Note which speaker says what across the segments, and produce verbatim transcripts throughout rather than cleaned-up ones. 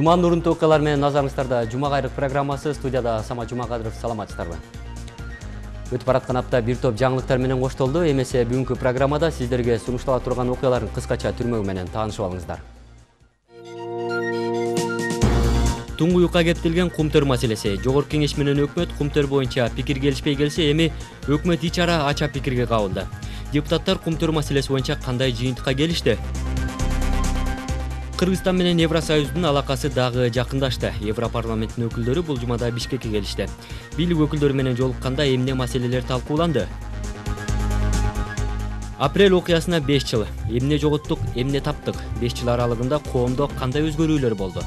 Speaker 1: Жуманын урунтуу окуялар менен назарыңыздарда Жума кайрык программасы. Студияда Самат Жумакадыров. Саламатсыздарбы? Өтүп бараткан апта бир топ жаңылыктар менен коштолду. Эмесе бүгүнкү программада сиздерге сунуштала турган окуялардын кыскача түрмөгү менен таанышып алыңыздар. Туңгуюкка кептелген кумтөр маселеси. Жогорку кеңеш менен өкмөт кумтөр боюнча пикир келишпей келсе, эми өкмөт ич ара ача пикирге кабылды. Депутаттар кумтөр маселеси боюнча кандай жыйынтыкка келишти? Кыргызстан менен Евросоюздун алакасы дагы жакындашты. Европарламенттин өкүлдөрү бул жумада Бишкекке келишти. Бийлик өкүлдөрү менен жолукканда эмне маселелер талкууланды? Апрель окуясына беш жыл. Эмне жоготтук, эмне таптык? беш жыл аралыгында коомдо кандай өзгөрүүлөр болду?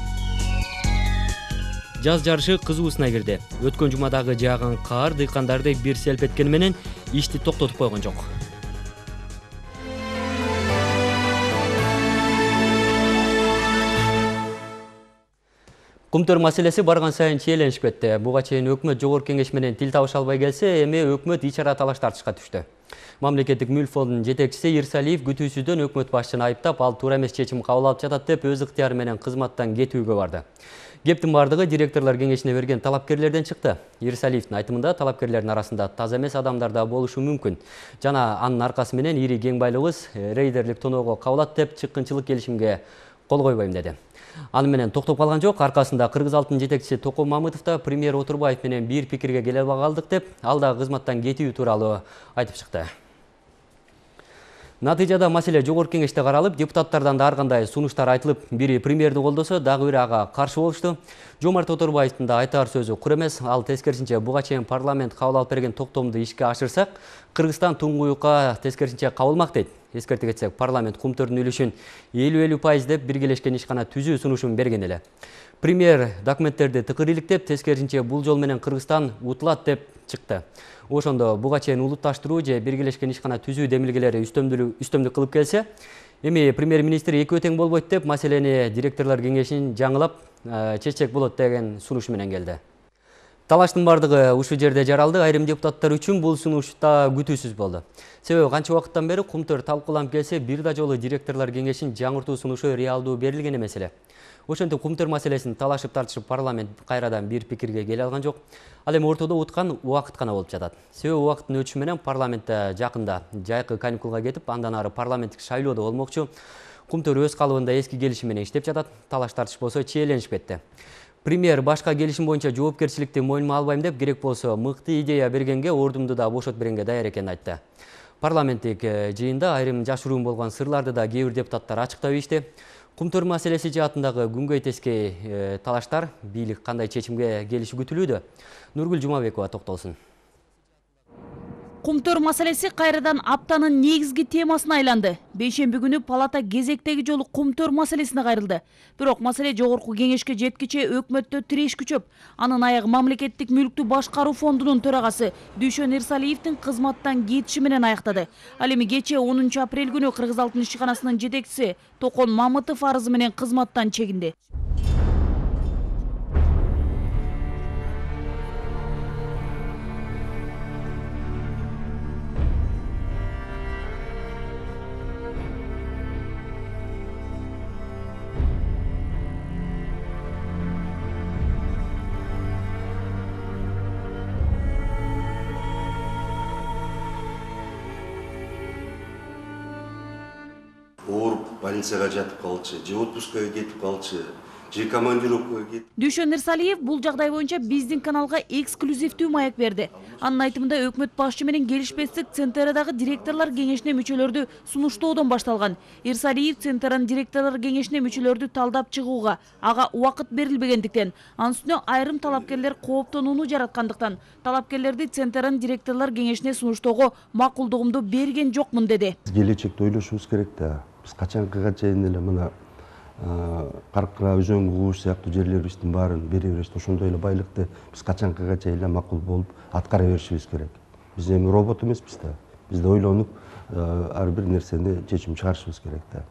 Speaker 1: Жаз жарышы кызуусуна кирди. Өткөн жумадагы жааган каар дыйкандарды бир селпеткени менен ишти токтотуп койгон жок. Кумтөр маселеси барган сайын чийленип кетти. Буга чейин өкмөт жогорку кеңеш менен тил табыша албай келсе, эми өкмөт ич ара талаш тартышка түштү. Мамлекеттик мүлк фондунун жетекчиси Ирсалиев күтүүсүздөн өкмөт башчыны айыптап, ал туура эмес чечим кабыл алып жатат деп өз ыктыяры менен кызматтан кетүүгө барды. Кептин бардыгы директорлор кеңешине берген талапкерлерден чыкты. Ирсалиевдин айтымында талапкерлердин арасында таза эмес адамдар да болушу мүмкүн. Жана анын аркасы менен ири кең байлыгыбыз рейдерлик тоноого кабылат деп чыккынчылык келишимге кол койбойм деди. Аны менен токтоп калган жок. Аркасында Кыргыз алтын жетекчиси Токон Мамытов да премьер Отурбаев менен бир пикирге келе албай калдык деп, ал да кызматтан кетүү тууралуу айтып чыкты. Натыйжада маселе жогорку кеңеште каралып, депутаттардан да ар кандай сунуштар айтылып, бири премьерди колдосо, дагы бири ага каршы болушту. Жомарт Отурбаевдин да айтар сөзү кур эмес. Ал тескерисинче буга чейин парламент кабыл алып берген токтомду ишке ашырсак, Кыргызстан туңгуюкка тескерисинче кабылмак дейт. Эскерте кетсек, парламент кумтөрдүн үлүшүн элүү элүү пайыз деп биргелешкен ишкана түзүү сунушун берген эле. Премьер документтерди тыкыр иликтеп, тескерисинче бул жол менен Кыргызстан утулат деп чыкты. Ошондо буга чейин улутташтыруу же биргелешкен ишкана түзүү демилгелери үстөмдүк кылып келсе, эми премьер-министр экөө тең болбойт деп маселени директорлор кеңешин жаңылап чечсек болот деген сунуш менен келди. Талаштын бардыгы ушул жерде жаралды. Айрым депутаттар үчүн бул сунуш да күтүүсүз болду. Себеби канча убакыттан бери кумтөр талкууланып келсе, бир да жолу директорлор кеңешин жаңыртуу сунушу реалдуу берилген эмес эле. Ошентип кумтөр маселесин талашып тартышып парламент кайрадан бир пикирге келе алган жок. Ал эми ортодо уткан убакыт гана болуп жатат. Себеби убакыттын өтүшү менен парламентте жакында жайкы каникулга кетип, андан ары парламенттик шайлоо да болмокчу. Кумтөр өз калыбында эски келиши менен иштеп жатат. Талаш тартыш болсо чийленип кетти. Премьер башка келишим боюнча жоопкерчиликти мойнума албайм деп, керек болсо мыкты идея бергенге, ордумду да бошот бергенге даяр экенин айтты. Парламенттик жыйында айрым жашыруун болгон сырларды да кээ бир депутаттар ачыктап ийишти. Кумтөр маселеси жаатындагы күнгөй тескей талаштар бийлик кандай чечимге келиши күтүлүүдө? Нургүл Жумабекова токтолсун.
Speaker 2: Кумтөр маселеси кайрадан аптанын негизги темасына айланды. Бейшемби күнү палата кезектеги жолу кумтөр маселесине кайрылды. Бирок маселе жогорку кеңешке жеткиче өкмөттө тиреш күчөп, анын аягы мамлекеттик мүлктү башкаруу фондунун төрагасы Дүйшөн Ирсалиевдин кызматтан кетиши менен аяктады. Ал эми кечээ онунчу апрель күнү Кыргыз алтын ишканасынын жетекчиси Токон Мамытов арызы менен кызматтан чегинди.
Speaker 3: Ооруп больницага жатып калчу, же отпускага кетип калчу, же командировкага кетип.
Speaker 2: Дүйшөн Ирсалиев бул жагдай боюнча биздин каналга эксклюзивдүү маек берди. Анын айтымында өкмөт башчы менен келишпестик Центерадагы директорлор кеңешине мүчөлөрдү сунуштоодон башталган. Ирсалиев Центеранын директорлор кеңешине мүчөлөрдү талдап чыгууга ага убакыт берилбегендиктен, анын үстүнө айрым талапкерлер кооптонууну жараткандыктан, талапкерлерди Центеранын директорлор кеңешине сунуштоого макулдугумду берген жокмун деди.
Speaker 3: Келечекте ойлошубуз керек да. Биз качанкыга чейин эле мына Каркыра, Өзөң, Кууш сыяктуу жерлерибиздин баарын бере беребиз. Ошондой эле байлыкты биз качанкыга чейин эле макул болуп аткара беришибиз керек. Биз эми робот эмеспиз да. Биз да ойлонуп ар бир нерсени чечим чыгарышыбыз керек да.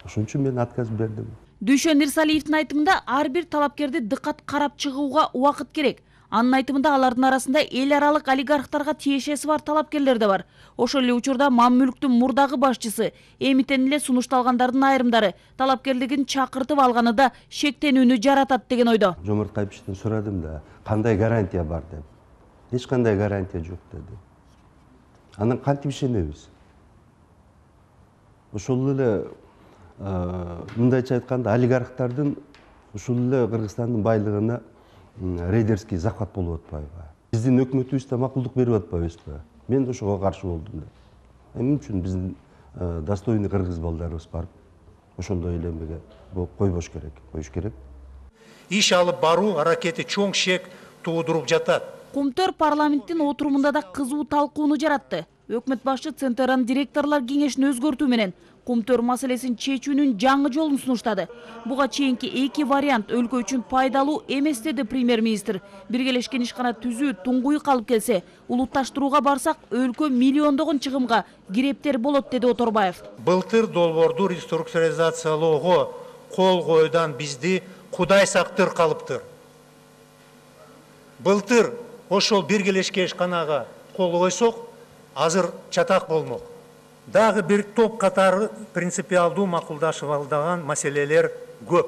Speaker 3: Ошон үчүн мен отказ бердим.
Speaker 2: Дүйшөн Ирсалиевдин айтымында ар бир талапкерди дыкат карап чыгууга убакыт керек. Анын айтымында алардын арасында эл аралык олигархтарга тиешеси бар талапкерлер да бар. Ошол эле учурда Маммүлктүн мурдагы башчысы, эмитен эле сунушталгандардын айрымдары талапкерлигин чакыртып алганы да шектенүүнү жаратат деген ойдо.
Speaker 3: Жомарт Кайпишевден сурадым да, кандай гарантия бар деп. Эч кандай гарантия жок деди. Анан кантип ишенебиз? Ошол эле мындайча айтканда олигархтардын ушул эле Кыргызстандын байлыгына рейдерский захват болуп атпайбы? Биздин өкмөтүбүз да макулдук берип атпайбызбы? Мен ошого каршы болдум да. Эмне үчүн биздин достойный кыргыз балдарыбыз барып ошондой эле эмеге койбош керек, коюш керек.
Speaker 4: Иш алып баруу аракети чоң шек туудуруп жатат.
Speaker 2: Кумтөр парламенттин отурумунда да кызуу талкууну жаратты. Өкмөт башчы Центеранын директорлор кеңешин өзгөртүү менен Кумтөр маселесин чечүүнүн жаңы жолун сунуштады. Буга чейинки эки вариант өлкө үчүн пайдалуу эмес деди премьер-министр. Биргелешкен ишкана түзүү туңгуй калып келсе, улутташтырууга барсак өлкө миллиондогон чыгымга кирептер болот деди Оторбаев.
Speaker 4: Былтыр долбоорду реструктуризациялоого кол койуудан бизди Кудай сактыр калыптыр. Былтыр ошол биргелешкен ишканага кол койсок, азыр чатак болмок. Дагы бир топ катары принципиалдуу макулдашып алдаган маселелер көп.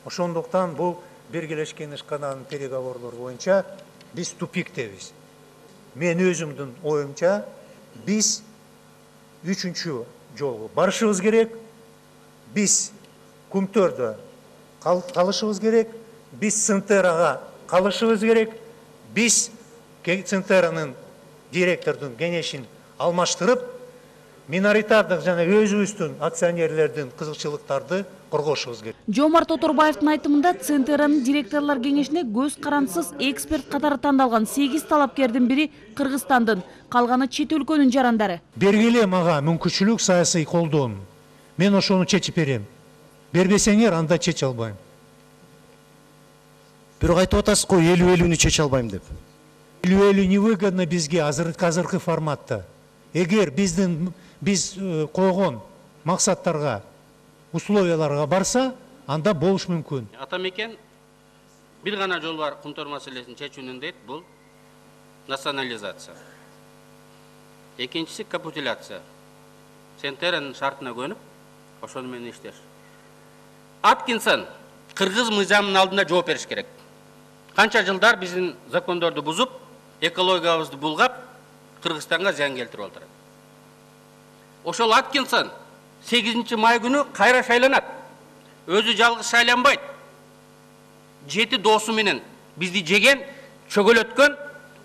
Speaker 4: Ошондуктан бул биргелешкен ишкананын переговорлору боюнча биз тупиктебиз. Мен өзүмдүн оюмча биз үчүнчү жолго барышыбыз керек. Биз Кумтөрдө калышыбыз керек. Биз Центерага калышыбыз керек. Биз Центеранын директордун кеңешин алмаштырып, миноритардык жана өзүбүздүн акционерлердин кызыкчылыктарды коргошубуз керек.
Speaker 2: Жомарт Оторбаевдин айтымында Центеранын директорлор кеңешине көз карандысыз эксперт катары тандалган сегиз талапкердин бири Кыргызстандын, калганы чет өлкөнүн жарандары.
Speaker 4: Бергиле мага мүмкүнчүлүк саясий колдоон. Мен ошону чечип берем. Бербесеңер, анда чече албайм.
Speaker 5: Бирок айтып атасыз го элүү элүүнү чече албайм деп.
Speaker 4: элүү элүү невыгодно бизге азыркы форматта. Эгер биздин биз койгон максаттарга, условияларга барса, анда болуш мүмкүн.
Speaker 6: Атамекен бир гана жол бар Кумтөр маселесин чечүүнүн дейт, бул национализация. Экинчиси капитуляция. Центеранын шартына көнүп, ошону менен иштеш. Аткинсон кыргыз мыйзамынын алдында жооп бериш керек. Канча жылдар биздин закондорду бузуп, экологиябызды булгап, Кыргызстанга зыян келтирип отурат. Ошол Аткинсон сегизинчи май күнү кайра шайланат. Өзү жалгыз шайланбайт. Жети досу менен бизди жеген, чөгөлөткөн,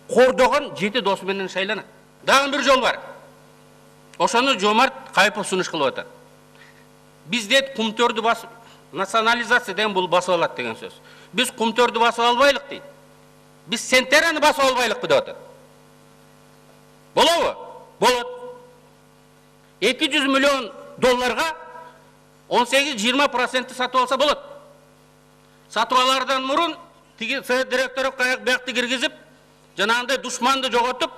Speaker 6: кордогон жети досу менен шайланат. Дагы бир жол бар. Ошону Жомарт Кайпов сунуш кылып атат. Биз дейт Кумтөрдү басып, национализация деген бул басып алат деген сөз. Биз Кумтөрдү басып албайлык дейт. Биз Центераны басып албайлыкпы деп атат. Болобу? Болот. эки жүз миллион долларга он сегиз жыйырма процент сатып алса болот. Сатып алардан мурун тиги совет директору биякты киргизип, жанагындай душманды жоготуп,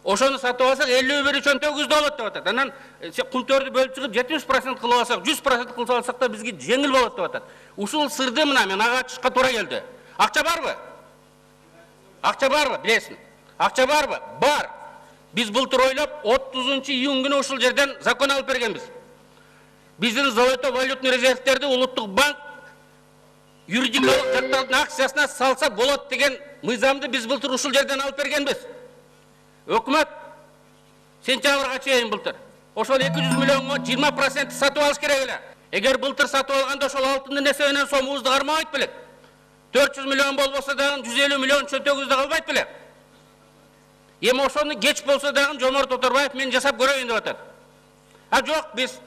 Speaker 6: ошону сатып алсак элүү бир үчөн тогузда болот деп атат. Анан Кумтөрдү бөлүп чыгып жетимиш процент кылып алсак, жүз процент кылып алсак да бизге жеңил болот деп атат. Ушул сырды мына мен ага ачышка туура келди. Акча барбы? Акча барбы? Билесиң. Акча барбы? Бар. Биз былтыр ойлоп отузунчу июнь күнү ушул жерден закон алып бергенбиз. Биздин золото валютный резервтерди улуттук банк юридикалык капиталдын акциясына салса болот деген мыйзамды биз былтыр ушул жерден алып бергенбиз. Өкмөт сентябрга чейин былтыр ошол эки жүз миллионго жыйырма процент сатып алыш керек эле. Эгер былтыр сатып алганда ошол алтындын эсебинен сомубузду кармабайт белек. төрт жүз миллион болбосо дагы жүз элүү миллион чөнтөгүбүздө калбайт белек. Эми ошону кеч болсо дагы Жомарт Оторбаев мен жасап көрөйүн деп атат. А жок, биз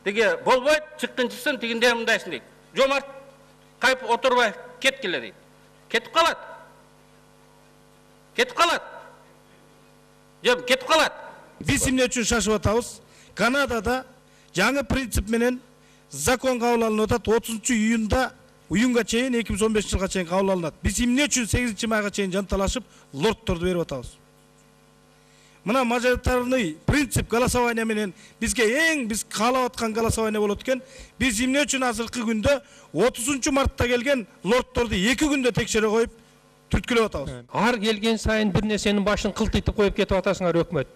Speaker 6: тиги болбойт, чыккынчысын тигиндей мындайсың дейт. Жомарт Кайпов Оторбаев кеткиле дейт. Кетип калат. Кетип калат. Жок, кетип калат.
Speaker 5: Биз эмне үчүн шашып атабыз? Канадада жаңы принцип менен закон кабыл алынып атат. отузунчу июнда июнга чейин эки миң он бешинчи жылга чейин кабыл алынат. Биз эмне үчүн сегизинчи майга чейин жанталашып лордторду берип атабыз? Мына мажоритарный принцип голосования менен бизге эң биз каалап аткан голосование болот экен. Биз эмне үчүн азыркы күндө отузунчу мартта келген лордторду эки күндө текшере коюп түрткүлөп атабыз.
Speaker 7: Ар келген сайын бир нерсенин башын кылтыйтып коюп кетип атасыңар өкмөт.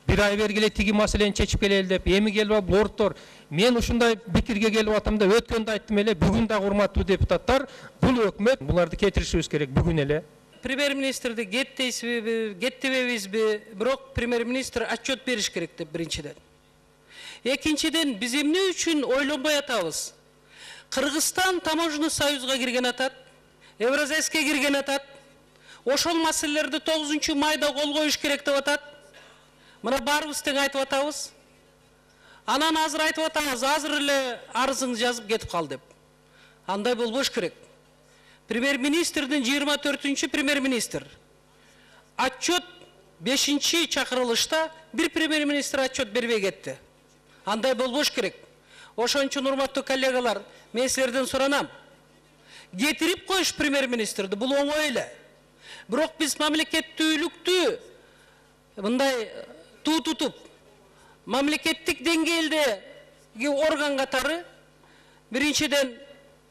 Speaker 7: Бир ай бергиле тиги маселени чечип келели деп, эми келип алып лордтор, мен ушундай пикирге келип атам да, өткөндө айттым эле, бүгүн да урматтуу депутаттар, бул өкмөт буларды кетиришибиз керек бүгүн эле.
Speaker 8: Премьер-министрди кет дейсизби, кет дебейбизби, бирок премьер-министр отчет бериш керек деп биринчиден. Экинчиден, биз эмне үчүн ойлонбой атабыз? Кыргызстан таможенный союзга кирген атат, Евразийскке кирген атат. Ошол маселелерди тогузунчу майда кол коюш керек деп атат. Мына баарыбыз тең айтып атабыз. Анан азыр айтып атабыз, азыр эле арызыңызды жазып кетип кал деп. Андай болбош керек. Премьер-министрдин жыйырма төртүнчү премьер-министр. Отчет бешинчи чакырылышта бир премьер-министр отчет бербей кетти. Андай болбош керек. Ошон үчүн урматтуу коллегалар, мен силерден суранам. Кетирип коюш премьер-министрди, бул оңой эле. Бирок биз мамлекеттүүлүктү мындай туу тутуп, мамлекеттик деңгээлдеги орган катары биринчиден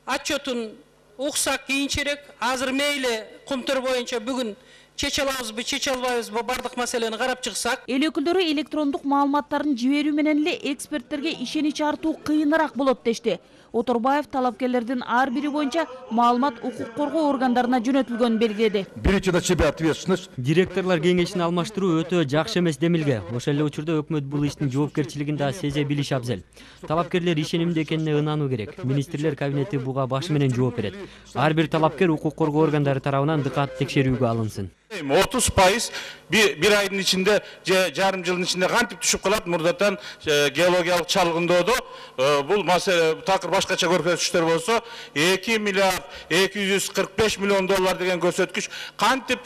Speaker 8: отчетун уксак кийинчерээк, азыр мейли кумтөр боюнча бүгүн чече алабызбы, чече албайбызбы, бардык маселени карап чыксак.
Speaker 2: Эл өкүлдөрү электрондук маалыматтарын жиберүү менен эле эксперттерге ишенич артуу кыйыныраак болот дешти. Оторбаев талапкерлердин ар бири боюнча маалымат укук коргоо органдарына жөнөтүлгөнүн белгиледи.
Speaker 9: Беречи на себя ответственность.
Speaker 1: Директорлор кеңешин алмаштыруу өтө жакшы эмес демилге. Ошол эле учурда өкмөт бул иштин жоопкерчилигин да сезе билиши абзел. Талапкерлер ишенимде экенине ынануу керек. Министрлер кабинети буга башы менен жооп берет. Ар бир талапкер укук коргоо органдары тарабынан дыкат текшерүүгө алынсын.
Speaker 10: отуз пайыз bir айдын ичинде, жарым жылдын ичинде кантип түшүп калат? Мурдатан геологиялык чалгындоодо бул маселе такыр башкача көрсөтүштөр болсо, эки миллиард эки жүз кырк беш миллион доллар деген көрсөткүч кантип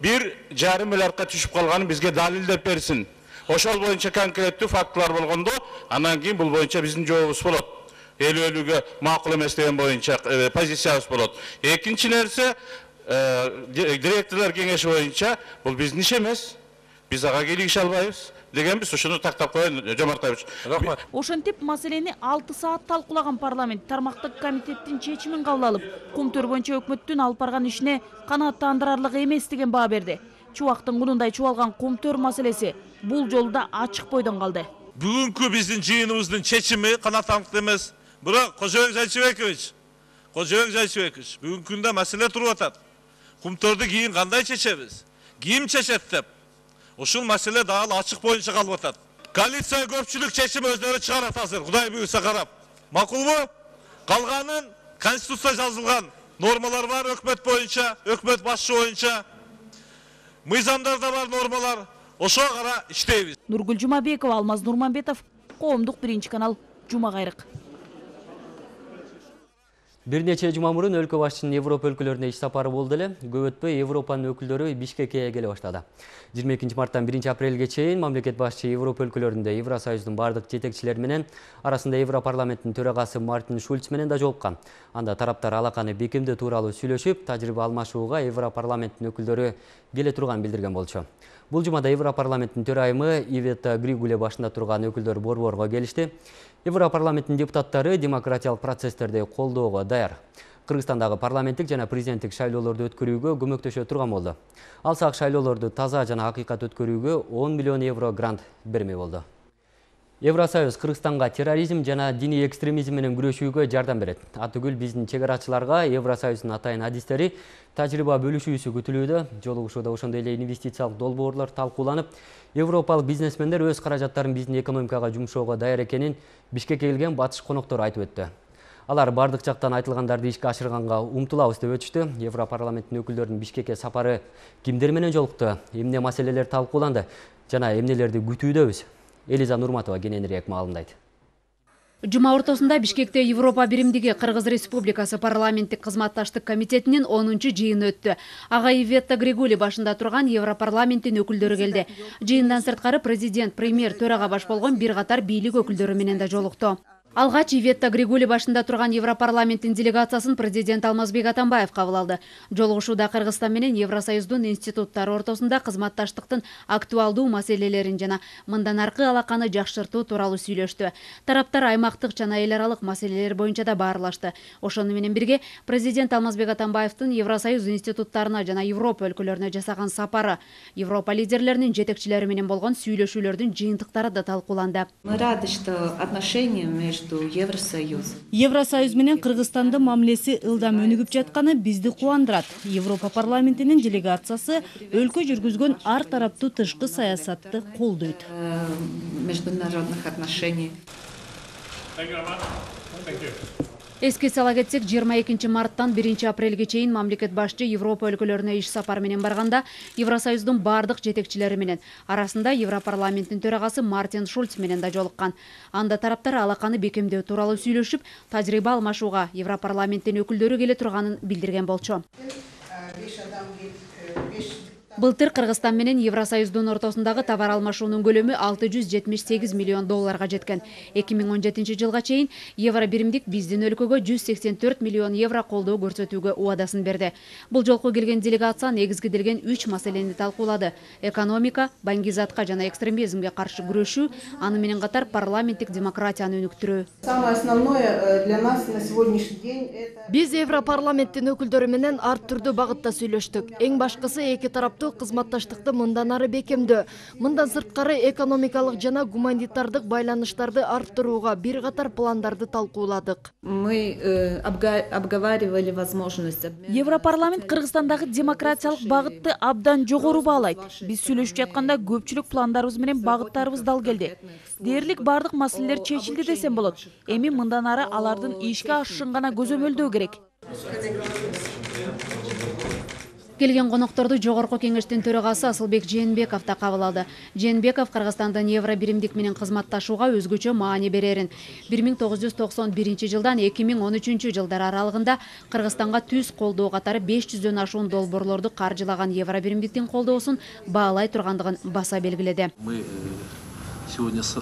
Speaker 10: bir жарым миллиардка түшүп калганын бизге далилдеп берсин. Ошол боюнча конкреттүү фактылар болгондо, анан кийин бул боюнча биздин жообубуз болот. Эл өлүүгө макул эмес деген боюнча позициябыз болот. Экинчи нерсе, директорлор кеңеши боюнча бул биздин иш эмес. Биз ага келише албайбыз дегенбиз. Ошону тактап коеюн, Жомартаевич. Рахмат.
Speaker 2: Ошентип маселени алты саат талкуулаган парламент тармактык комитеттин чечимин кабыл алып, кумтөр боюнча өкмөттүн алып барган ишине канааттандырарлык эмес деген баа берди. Чубактын кунундай чубалган кумтөр маселеси бул жолу да ачык бойдон калды.
Speaker 11: Бүгүнкү биздин жыйыныбыздын чечими канааттандык эмес. Бирок Кожобек Жайчыбекович, Кожобек Жайчыбекович, бүгүнкү күндө маселе туруп атат. Кумтөрдү кийин кандай чечебиз? Ким чечет деп? Ушул маселе дагы ачык боюнча калып атат. Коалиция көпчүлүк чечим өздөрү чыгарат азыр, Кудай буйруса карап. Макулбу? Калганын Конституция жазылган нормалар бар өкмөт боюнча, өкмөт башчы боюнча. Мыйзамдарда бар нормалар. Ошого кара иштейбиз.
Speaker 2: Нургүл Жумабекова, Алмаз Нурманбетов, Коомдук биринчи канал, Жума кайрык.
Speaker 1: Бир нече жума мурун өлкө башчысынын Европа өлкөлөрүнө иш сапары болду эле. Көп өтпөй Европанын өкүлдөрү Бишкекке келе баштады. жыйырма экинчи марттан биринчи апрелге чейин мамлекет башчы Европа өлкөлөрүндө Евросоюздун бардык жетекчилери менен, арасында Европарламенттин төрагасы Мартин Шульц менен да жолуккан. Анда тараптар алаканы бекемдөө тууралуу сүйлөшүп, тажрыйба алмашууга Европарламенттин өкүлдөрү келе турганын билдирген болчу. Бул жумада Европарламенттин төрайымы Ивета Григуле башында турган өкүлдөр борборго келишти. Европарламенттин депутаттары демократиялык процесстерди колдоого даяр. Кыргызстандагы парламенттик жана президенттик шайлоолорду өткөрүүгө көмөктөшө турган болду. Алсак шайлоолорду таза жана акыйкат өткөрүүгө он миллион евро грант берме болду. Евросоюз Кыргызстанга терроризм жана диний экстремизм менен күрөшүүгө жардам берет. Атүгүл биздин чегарачыларга Евросоюздун атайын адистери тажрыйба бөлүшүүсү күтүлүүдө. Жолугушууда ошондой эле инвестициялык долбоорлор талкууланып, европалык бизнесмендер өз каражаттарын биздин экономикага жумшоого даяр экенин Бишкекке келген батыш коноктор айтып өттү. Алар бардык жактан айтылгандарды ишке ашырганга умтулабыз деп өтүштү. Европарламенттин өкүлдөрүнүн Бишкекке сапары кимдер менен жолукту, эмне маселелер талкууланды жана эмнелерди күтүүдөбүз? Элиза Нурматова кененирээк маалымдайт.
Speaker 12: Жума ортосунда Бишкекте Европа биримдиги Кыргыз Республикасы парламенттик кызматташтык комитетинин онунчу жыйыны өттү. Ага Ивета Григули башында турган Европарламенттин өкүлдөрү келди. Жыйындан сырткары президент, премьер, төрага баш болгон бир катар бийлик өкүлдөрү менен да жолукту. Алгач Иветта Григули башында турган Европарламенттин делегациясын президент Алмазбек Атамбаев кабыл алды. Жолугушууда Кыргызстан менен Евросоюздун институттары ортосунда кызматташтыктын актуалдуу маселелерин жана мындан аркы алаканы жакшыртуу тууралуу сүйлөштү. Тараптар аймактык жана эл аралык маселелер боюнча да баарлашты. Ошону менен бирге президент Алмазбек Атамбаевдин Евросоюз институттарына жана Европа өлкөлөрүнө жасаган сапары, Европа лидерлеринин жетекчилери менен болгон сүйлөшүүлөрдүн жыйынтыктары да талкууланды.
Speaker 9: Мы рады, что отношения между Евросоюз.
Speaker 2: Евросоюз менен Кыргызстандын мамилеси ылдам өнүгүп жатканы бизди кубандырат. Европа парламентинин делегациясы өлкө жүргүзгөн ар тараптуу тышкы саясатты колдойт.
Speaker 9: Международных отношений.
Speaker 12: Эске сала кетсек, жыйырма экинчи марттан биринчи апрелге чейин мамлекет башчы Европа өлкөлөрүнө иш сапар менен барганда Евросоюздун бардык жетекчилери менен, арасында Европарламенттин төрагасы Мартин Шульц менен да жолуккан. Анда тараптар алаканы бекемдөө тууралуу сүйлөшүп, тажрыйба алмашууга Европарламенттин өкүлдөрү келе турганын билдирген болчу. Былтыр Кыргызстан менен Евросоюздун ортосундагы товар алмашуунун көлөмү алты жүз жетимиш сегиз миллион долларга жеткен. эки миң он жетинчи жылга чейин евро биримдик биздин өлкөгө жүз сексен төрт миллион евро колдоо көрсөтүүгө убадасын берди. Бул жолку келген делегация негизгиделген үч маселени талкуулады: экономика, баңгизатка жана экстремизмге каршы күрөшүү, аны менен катар парламенттик демократияны өнүктүрүү.
Speaker 13: Самое основное для нас на сегодняшний день это
Speaker 14: Биз Европарламенттин өкүлдөрү менен ар түрдүү багытта сүйлөштүк. Эң башкысы эки тараптуу кызматташтыкты мындан ары бекемдөө, мындан сырткары экономикалык жана гуманитардык байланыштарды арттырууга бир катар пландарды талкууладык.
Speaker 9: Мы обговаривали возможность.
Speaker 2: Европарламент Кыргызстандагы демократиялык багытты абдан жогору баалайт. Биз сүйлөшүп жатканда көпчүлүк пландарыбыз менен багыттарыбыз дал келди. Дээрлик бардык маселелер чечилди десем болот. Эми мындан ары алардын ишке ашышын гана көзөмөлдөө керек.
Speaker 12: Келген конокторду Жогорку кеңештин төрагасы Асылбек Жээнбеков да кабыл алды. Жээнбеков Кыргызстандын евро биримдик менен кызматташууга өзгөчө маани берерин, бир миң тогуз жүз токсон биринчи жылдан эки миң он үчүнчү жылдар аралыгында Кыргызстанга түз колдоо катары беш жүздөн ашуун долбоорлорду каржылаган евро биримдиктин колдоосун баалай тургандыгын баса белгиледи.
Speaker 15: Мы сегодня с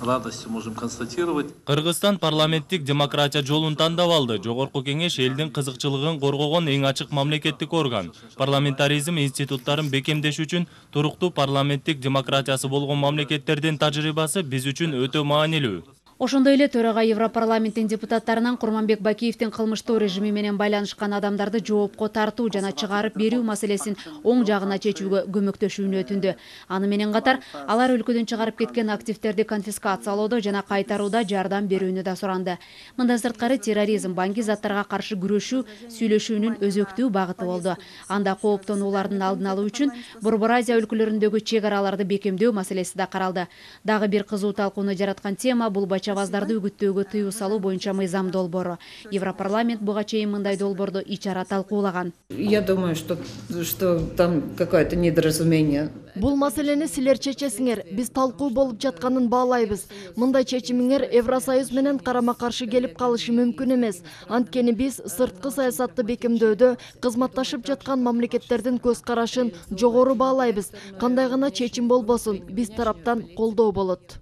Speaker 15: радостью можем констатировать.
Speaker 16: Кыргызстан парламенттик демократия жолун тандап алды. Жогорку кеңеш элдин кызыкчылыгын коргогон эң ачык мамлекеттик орган. Парламентаризм институттарын бекемдеш үчүн туруктуу парламенттик демократиясы болгон мамлекеттердин тажрыйбасы биз үчүн өтө маанилүү.
Speaker 12: Ошондой эле төрага Европарламенттин депутаттарынан Курманбек Бакиевдин кылмыштуу режими менен байланышкан адамдарды жоопко тартуу жана чыгарып берүү маселесин оң жагына чечүүгө көмөктөшүүнү өтүндү. Аны менен катар алар өлкөдөн чыгарып кеткен активдерди конфискациялоодо жана кайтарууда жардам берүүнү да суранды. Мындан сырткары терроризм, баңги заттарга каршы күрөшүү сүйлөшүүнүн өзөктүү багыты болду. Анда кооптонуулардын алдын алуу үчүн Борбор Азия өлкөлөрүндөгү чек араларды бекемдөө маселеси да каралды. Дагы бир кызуу талкууну жараткан тема бул чабаздарды үгүттөөгө тыюу салуу боюнча мыйзам долбоору. Европарламент буга чейин мындай долбоорду ичара талкуулаган.
Speaker 9: Я думаю, что что там какое-то недоразумение.
Speaker 14: Бул маселени силер чечесиңер. Биз талкуу болуп жатканын баалайбыз. Мындай чечимиңер Евросоюз менен карама-каршы келип калышы мүмкүн эмес. Анткени биз сырткы саясатты бекемдөөдө кызматташып жаткан мамлекеттердин көз карашын жогору баалайбыз. Кандай гана чечим болбосун, биз тараптан колдоо болот.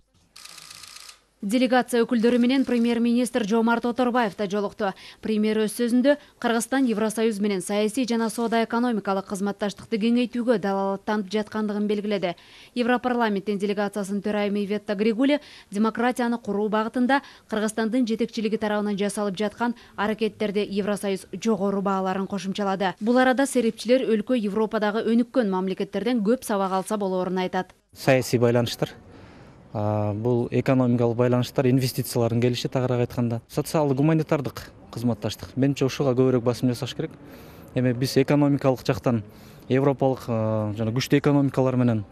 Speaker 12: Делегация өкүлдөрү менен премьер-министр Жомарт Оторбаев да жолукту. Премьер өз сөзүндө Кыргызстан Евросоюз менен саясий жана соода-экономикалык кызматташтыкты кеңейтүүгө далалаттанып жаткандыгын белгиледи. Европарламенттин делегациясынын төрайымы Иветта Григули демократияны куруу багытында Кыргызстандын жетекчилиги тарабынан жасалып жаткан аракеттерди Евросоюз жогору бааларын кошумчалады. Бул арада серепчилер өлкө Европадагы өнүккөн мамлекеттерден көп сабак алса болоорун айтат.
Speaker 17: Саясий байланыштар, бул экономикалык байланыштар, инвестициялардын келиши, тагыраак айтканда социалдык гуманитардык кызматташтык. Менимче ушуга көбүрөөк басым жасаш керек. Эми биз экономикалык жактан европалык жана күчтүү экономикалар менен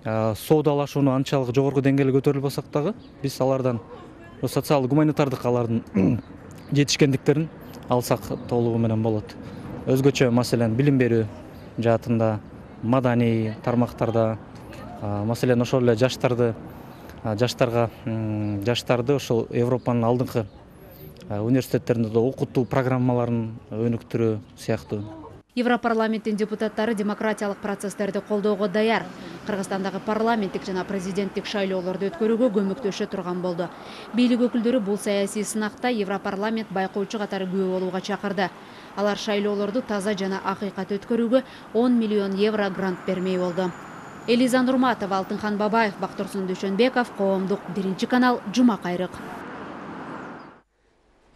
Speaker 17: соодалашууну анчалык жогорку деңгээлге көтөрүлбөсөк дагы, биз алардан социалдык гуманитардык алардын жетишкендиктерин алсак толугу менен болот. Өзгөчө маселен билим берүү жаатында, маданий тармактарда, маселен ошол эле жаштарды жаштарга жаштарды ошол Европанын алдыңкы университеттеринде окутуу программаларын өнүктүрүү сыяктуу.
Speaker 12: Европарламенттин депутаттары демократиялык процесстерди колдоого даяр. Кыргызстандагы парламенттик жана президенттик шайлоолорду өткөрүүгө көмөктөшө турган болду. Бийлик өкүлдөрү бул саясий сынакта Европарламент байкоочу катары күбө болууга чакырды. Алар шайлоолорду таза жана акыйкат өткөрүүгө он миллион евро грант бермей болду. Элиза Нурматова, Алтынхан Бабаев, Бактурсун Дүйшөнбеков, Коомдук, биринчи канал, Жума кайрык.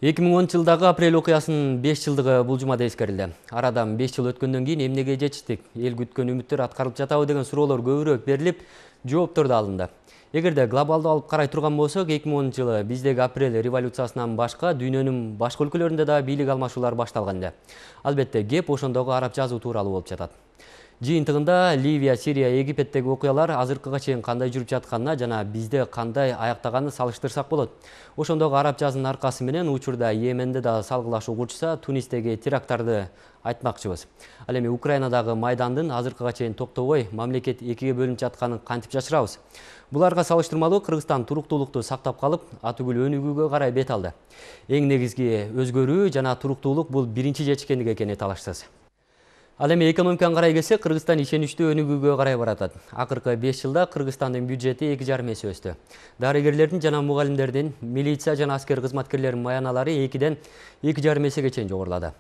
Speaker 1: эки миң онунчу жылдагы апрель окуясынын беш жылдыгы бул жумада эскерилди. Арадан беш жыл өткөндөн кийин эмнеге жетиштик? Эл күткөн үмүттөр аткарылып жатабы деген суроолор көбүрөөк берилип, жооптор да алынды. Эгерде глобалдуу алып карай турган болсок, эки миң онунчу жылы биздеги апрель революциясынан башка дүйнөнүн башка өлкөлөрүндө да бийлик алмашуулар башталган эле. Албетте, кеп ошондогу араб жазуу тууралуу болуп жатат. Жыйынтыгында Ливия, Сирия, Египеттеги окуялар азыркыга чейин кандай жүрүп жатканына жана бизде кандай аяктаганын салыштырсак болот. Ошондогу араб жазынын аркасы менен учурда Йеменде да салгылашуу курчса, Тунистеги теракттарды айтмакчыбыз. Ал эми Украинадагы майдандын азыркыга чейин токтобой мамлекет экиге бөлүнүп жатканын кантип жашырабыз? Буларга салыштырмалуу Кыргызстан туруктуулукту сактап калып, атүгүл өнүгүүгө карай бет алды. Эң негизги өзгөрүү жана туруктуулук бул биринчи жетишкендик экени талашсыз. Ал эми экономиканы карай келсек, Кыргызстан ишеничтүү өнүгүүгө карай баратат. Акыркы беш жылда Кыргызстандын бюджети эки жарым эсе өстү. Дарыгерлердин жана мугалимдердин, милиция жана аскер кызматкерлеринин маяналары экиден эки жарым эсеге чейин жогорулады.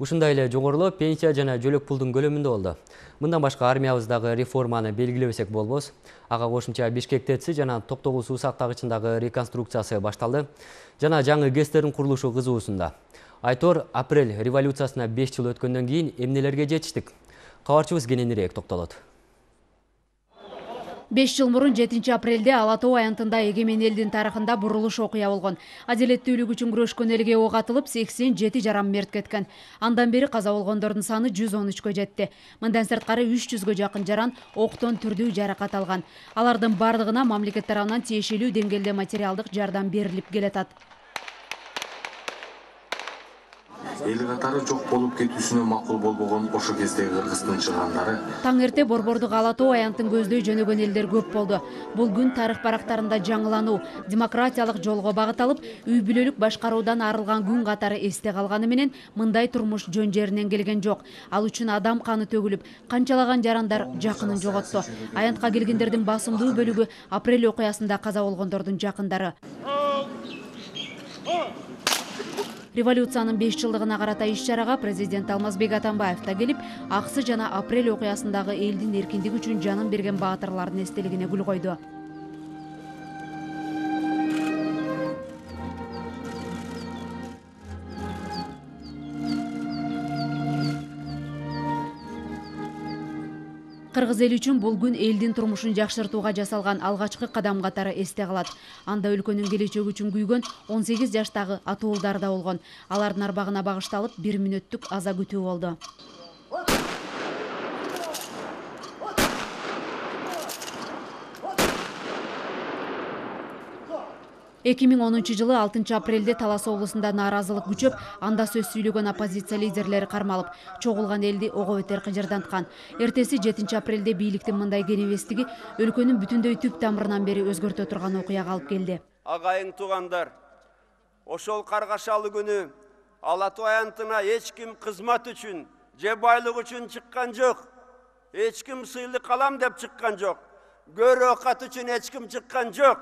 Speaker 1: Ушундай эле жогорулоо пенсия жана жөлөк пулдун көлөмүндө болду. Мындан башка армиябыздагы реформаны белгилебесек болбос. Ага кошумча Бишкек ТЭЦи жана Токтогул суу сактагычындагы реконструкциясы башталды. Жана жаңы ГЭСтердин курулушу кызуусунда. Айтор, апрель революциясына беш жыл өткөндөн кийин эмнелерге жетиштик? Кабарчыбыз кененирээк токтолот.
Speaker 12: беш жыл мурун жетинчи апрелде Ала Тоо аянтында эгемен элдин тарыхында бурулуш окуя болгон. Адилеттүүлүк үчүн күрөшкөн элге ок атылып, сексен жети жаран мерт кеткен. Андан бери каза болгондордун саны жүз он үчкө жетти. Мындан сырткары үч жүзгө жакын жаран октон түрдүү жаракат алган. Алардын бардыгына мамлекет тарабынан тиешелүү деңгээлде материалдык жардам берилип келатат.
Speaker 18: Эл катары жок болуп кетүүсүнө макул болбогон ошо кездеги Кыргыздын чыгандары.
Speaker 12: Таң эрте Борбордук Ала Тоо аянтын көздөй жөнөгөн элдер көп болду. Бул күн тарых барактарында жаңылануу, демократиялык жолго багыт алып, үй бүлөлүк башкаруудан арылган күн катары эсте калганы менен мындай турмуш жөн жеринен келген жок. Ал үчүн адам каны төгүлүп, канчалаган жарандар жакынын жоготту. Аянтка келгендердин басымдуу бөлүгү апрель окуясында каза болгондордун жакындары. Революциянын беш жылдыгына карата иш-чарага президент Алмазбек Атамбаев да келип, аксы жана апрель окуясындагы элдин эркиндиги үчүн жанын берген баатырлардын эстелигине гүл койду. Кыргыз эл үчүн бул күн элдин турмушун жакшыртууга жасалган алгачкы кадам катары эсте калат. Анда өлкөнүн келечеги үчүн күйгөн он сегиз жаштагы атуулдар да болгон. Алардын арбагына багышталып бир мүнөттүк аза күтүү болду. эки миң онунчу жылы алтынчы апрелде Талас облусунда нааразылык күчөп, анда сөз сүйлөгөн оппозиция лидерлери кармалып, чогулган элди ого бетер кыжырданткан. Эртеси жетинчи апрелде бийликтин мындай кенебестиги өлкөнүн бүтүндөй түп тамырынан бери өзгөртө турган окуяга алып келди.
Speaker 19: Агайың туугандар, ошол каргашалуу күнү Ала Тоо аянтына эч ким кызмат үчүн, же байлык үчүн чыккан жок. Эч ким сыйлык алам деп чыккан жок. Көрө окат үчүн эч ким чыккан жок.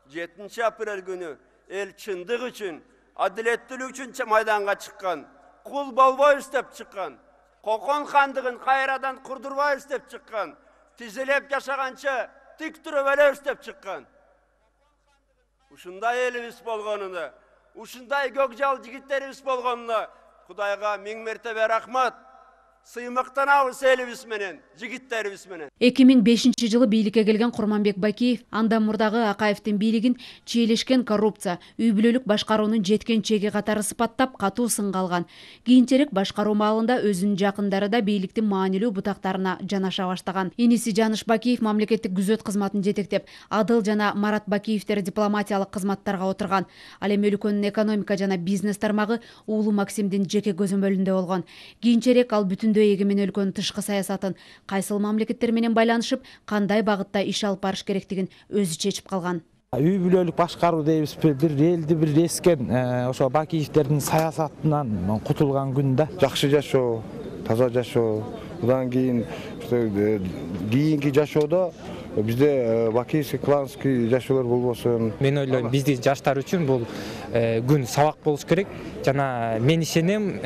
Speaker 19: жетинчи апрель күнү эл чындык үчүн, адилеттүүлүк үчүн майданга чыккан. Кул болбойбуз деп чыккан. Кокон хандыгын кайрадан курдурбайбыз деп чыккан. Тизилеп жашаганча тик туруп өлөбүз деп чыккан. Ушундай элибиз болгонуна, ушундай көкжал жигиттерибиз болгонуна Кудайга миң мертебе рахмат. Сыймыктанабыз элибиз менен, жигиттерибиз менен.
Speaker 12: эки миң бешинчи жылы бийликке келген Курманбек Бакиев андан мурдагы Акаевдин бийлигин чийлешкен коррупция, үй бүлөлүк башкаруунун жеткен чеги катары сыпаттап катуу сынга алган. Кийинчерээк башкаруу маалында өзүнүн жакындары да бийликтин маанилүү бутактарына жанаша баштаган. Иниси Жаныш Бакиев мамлекеттик күзөт кызматын жетектеп, Адыл жана Марат Бакиевтер дипломатиялык кызматтарга отурган. Ал эми өлкөнүн экономика жана бизнес тармагы уулу Максимдин жеке көзөмөлүндө болгон. Кийинчерээк ал бүтүн эгемен өлкөнүн тышкы саясатын кайсыл мамлекеттер менен байланышып, кандай багытта иш алып барыш керектигин өзү чечип калган.
Speaker 20: Үй бүлөлүк башкаруу дейбизби, бир элди бир эскен ошо Бакиевтердин саясатынан кутулган күндө жакшы жашоо,
Speaker 21: таза жашоо, мындан кийин кийинки жашоодо бизде бакийский, кланский жашоолор болбосун.
Speaker 22: Мен ойлойм, биздин жаштар үчүн бул күн сабак болуш керек. Жана мен ишенем,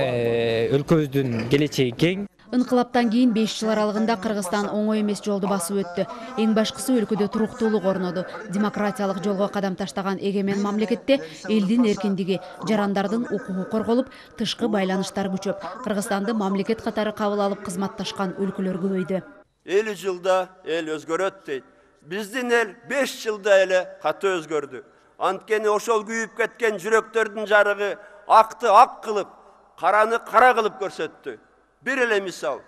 Speaker 22: өлкөбүздүн келечеги кең.
Speaker 12: Инкылаптан кийин беш жыл аралыгында Кыргызстан оңой эмес жолду басып өттү. Эң башкысы өлкөдө туруктуулук орноду. Демократиялык жолго кадам таштаган эгемен мамлекетте элдин эркиндиги, жарандардын укугу корголуп, тышкы байланыштар күчөп, Кыргызстанды мамлекет катары кабыл алып кызматташкан өлкөлөр көбөйдү.
Speaker 19: элүү жылда эл өзгөрөт дейт. Биздин эл беш жылда эле каты өзгөрдү. Анткени ошол күйүп кеткен жүрөктөрдүн жарыгы акты ак кылып, караны кара кылып көрсөттү. Bir ele misal,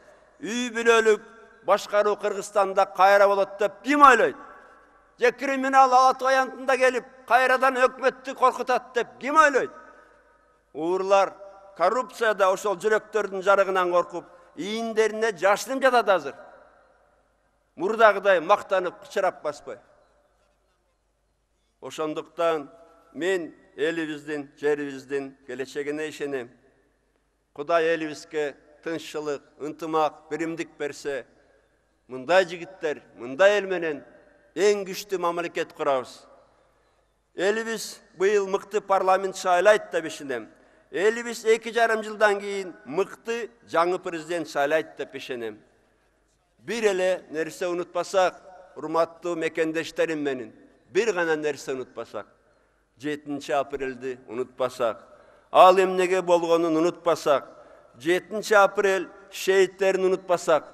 Speaker 19: үй бүлөлүк башкаруу Кыргызстанда кайра болот деп ким ойлойт? Же криминал Алатуу аянтында келип, кайрадан өкмөттү коркутат деп ким ойлойт? Уурлар коррупцияда ошол жүрөктөрдүн жарыгынан коркуп, ийиндерине жашынып жатат азыр. Мурдагыдай мактанып кычырап баспай. Ошондуктан мен элибиздин, жерибиздин келечегине ишенем. Кудай элибизге тынччылык, ынтымак, биримдик берсе, мындай жигиттер, мындай эл менен эң күчтүү мамлекет курабыз. Элибиз быйыл мыкты парламент шайлайт деп ишенем. Элибиз эки жарым жылдан кийин мыкты жаңы президент шайлайт деп ишенем. Бир эле нерсе унутпасак, урматтуу мекендештерим менен, бир гана нерсе унутпасак, жетинчи апрелди унутпасак, ал эмнеге болгонун унутпасак, жетинчи апрель шейиттерин унутпасак,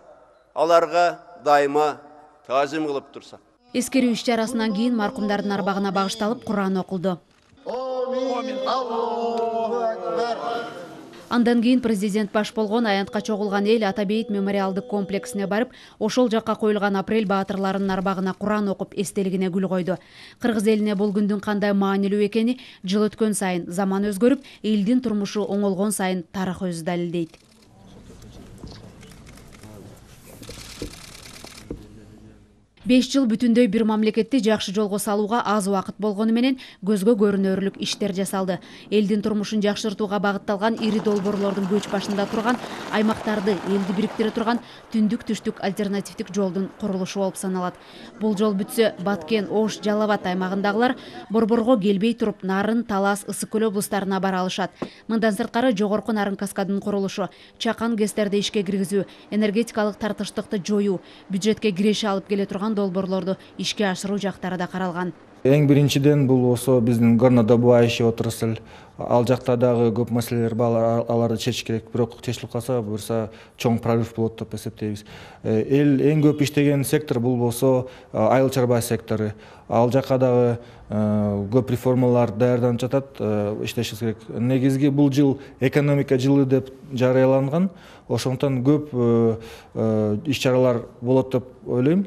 Speaker 19: аларга дайыма таазим кылып турсак.
Speaker 12: Эскерүү иш-чарасынан кийин маркумдардын арбагына багышталып Куран окулду. Андан кийин президент баш болгон аянтка чогулган эл Атабейит мемориалдык комплексине барып, ошол жакка коюлган апрель баатырларынын арбагына Куран окуп, эстелигине гүл койду. Кыргыз элине бул күндүн кандай маанилүү экени жыл өткөн сайын, заман өзгөрүп, элдин турмушу оңолгон сайын тарых өзү далилдейт. беш жыл бүтүндөй бир мамлекетти жакшы жолго салууга аз убакыт болгону менен көзгө көрүнөрлүк иштер жасалды. Элдин турмушун жакшыртууга багытталган ири долбоорлордун көч башында турган, аймактарды элди бириктире турган түндүк-түштүк альтернативдик жолдун курулушу болуп саналат. Бул жол бүтсө, Баткен, Ош, Жалал Абад аймагындагылар Борборго келбей туруп, Нарын, Талас, Ысык көл облустарына бара алышат. Мындан сырткары жогорку Нарын каскадынын курулушу, Чакан ГЭСтерди ишке киргизүү, энергетикалык тартыштыкты жоюу, бюджетке киреше алып келе турган долбоорлорду ишке ашыруу жактары да каралган.
Speaker 17: Эң биринчиден бул осо биздин горнодобывающий отрасль. Ал жакта дагы көп маселелер бар, аларды чечиш керек. Бирок чечилип калса, буюрса чоң прорыв болот деп эсептейбиз. Эл эң көп иштеген сектор бул болсо айыл чарба сектору. Ал жакка дагы көп реформалар даярданып жатат, иштешибиз керек. Негизги бул жыл экономика жылы деп жарыяланган. Ошондон көп иш-чаралар болот деп ойлойм.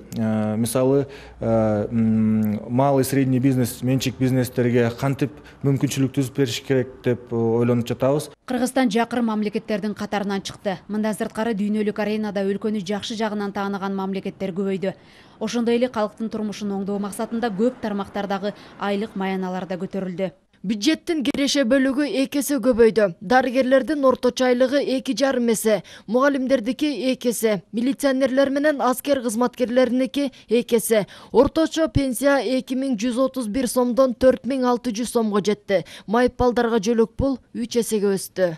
Speaker 17: Мисалы, мал и средний бизнес, менчик бизнестерге кантип мүмкүнчүлүк түзүп бериш керек деп ойлонуп жатабыз.
Speaker 12: Кыргызстан жакыр мамлекеттердин катарынан чыкты. Мындан сырткары дүйнөлүк аренада өлкөнү жакшы жагынан тааныган мамлекеттер көбөйдү. Ошондой эле калктын турмушун оңдоо максатында көп тармактардагы айлык маяналар да көтөрүлдү.
Speaker 14: Бюджеттин киреше бөлүгү эки эсе көбөйдү. Дарыгерлердин орточо айлыгы эки жарым эсе, мугалимдердики эки эсе, милиционерлер менен аскер кызматкерлериники эки эсе. Орточо пенсия эки миң жүз отуз бир сомдон төрт миң алты жүз сомго жетти. Майыппалдарга жөлөк пул үч эсеге өстү.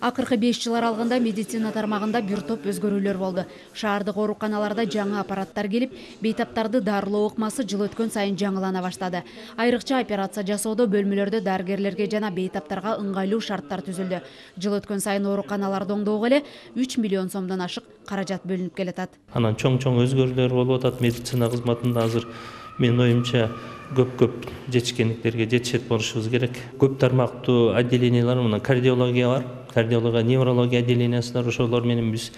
Speaker 14: Акыркы беш жыл аралыгында медицина тармагында бир топ өзгөрүүлөр болду. Шаардык ооруканаларда жаңы аппараттар келип, бейтаптарды дарылоо ыкмасы жыл өткөн сайын жаңылана баштады. Айрыкча операция жасоодо бөлмөлөрдө дарыгерлерге жана бейтаптарга ыңгайлуу шарттар түзүлдү. Жыл өткөн сайын ооруканаларды оңдоого эле үч миллион сомдон ашык каражат бөлүнүп келатат.
Speaker 23: Анан чоң-чоң өзгөрүүлөр болуп атат медицина кызматында азыр. Мен оюмча көп-көп жетишкендиктерге жетишет болушубуз керек. Көп тармактуу отделениялар, мына кардиология бар, кардиология, неврология отделениясы бар. Ошолор менен биз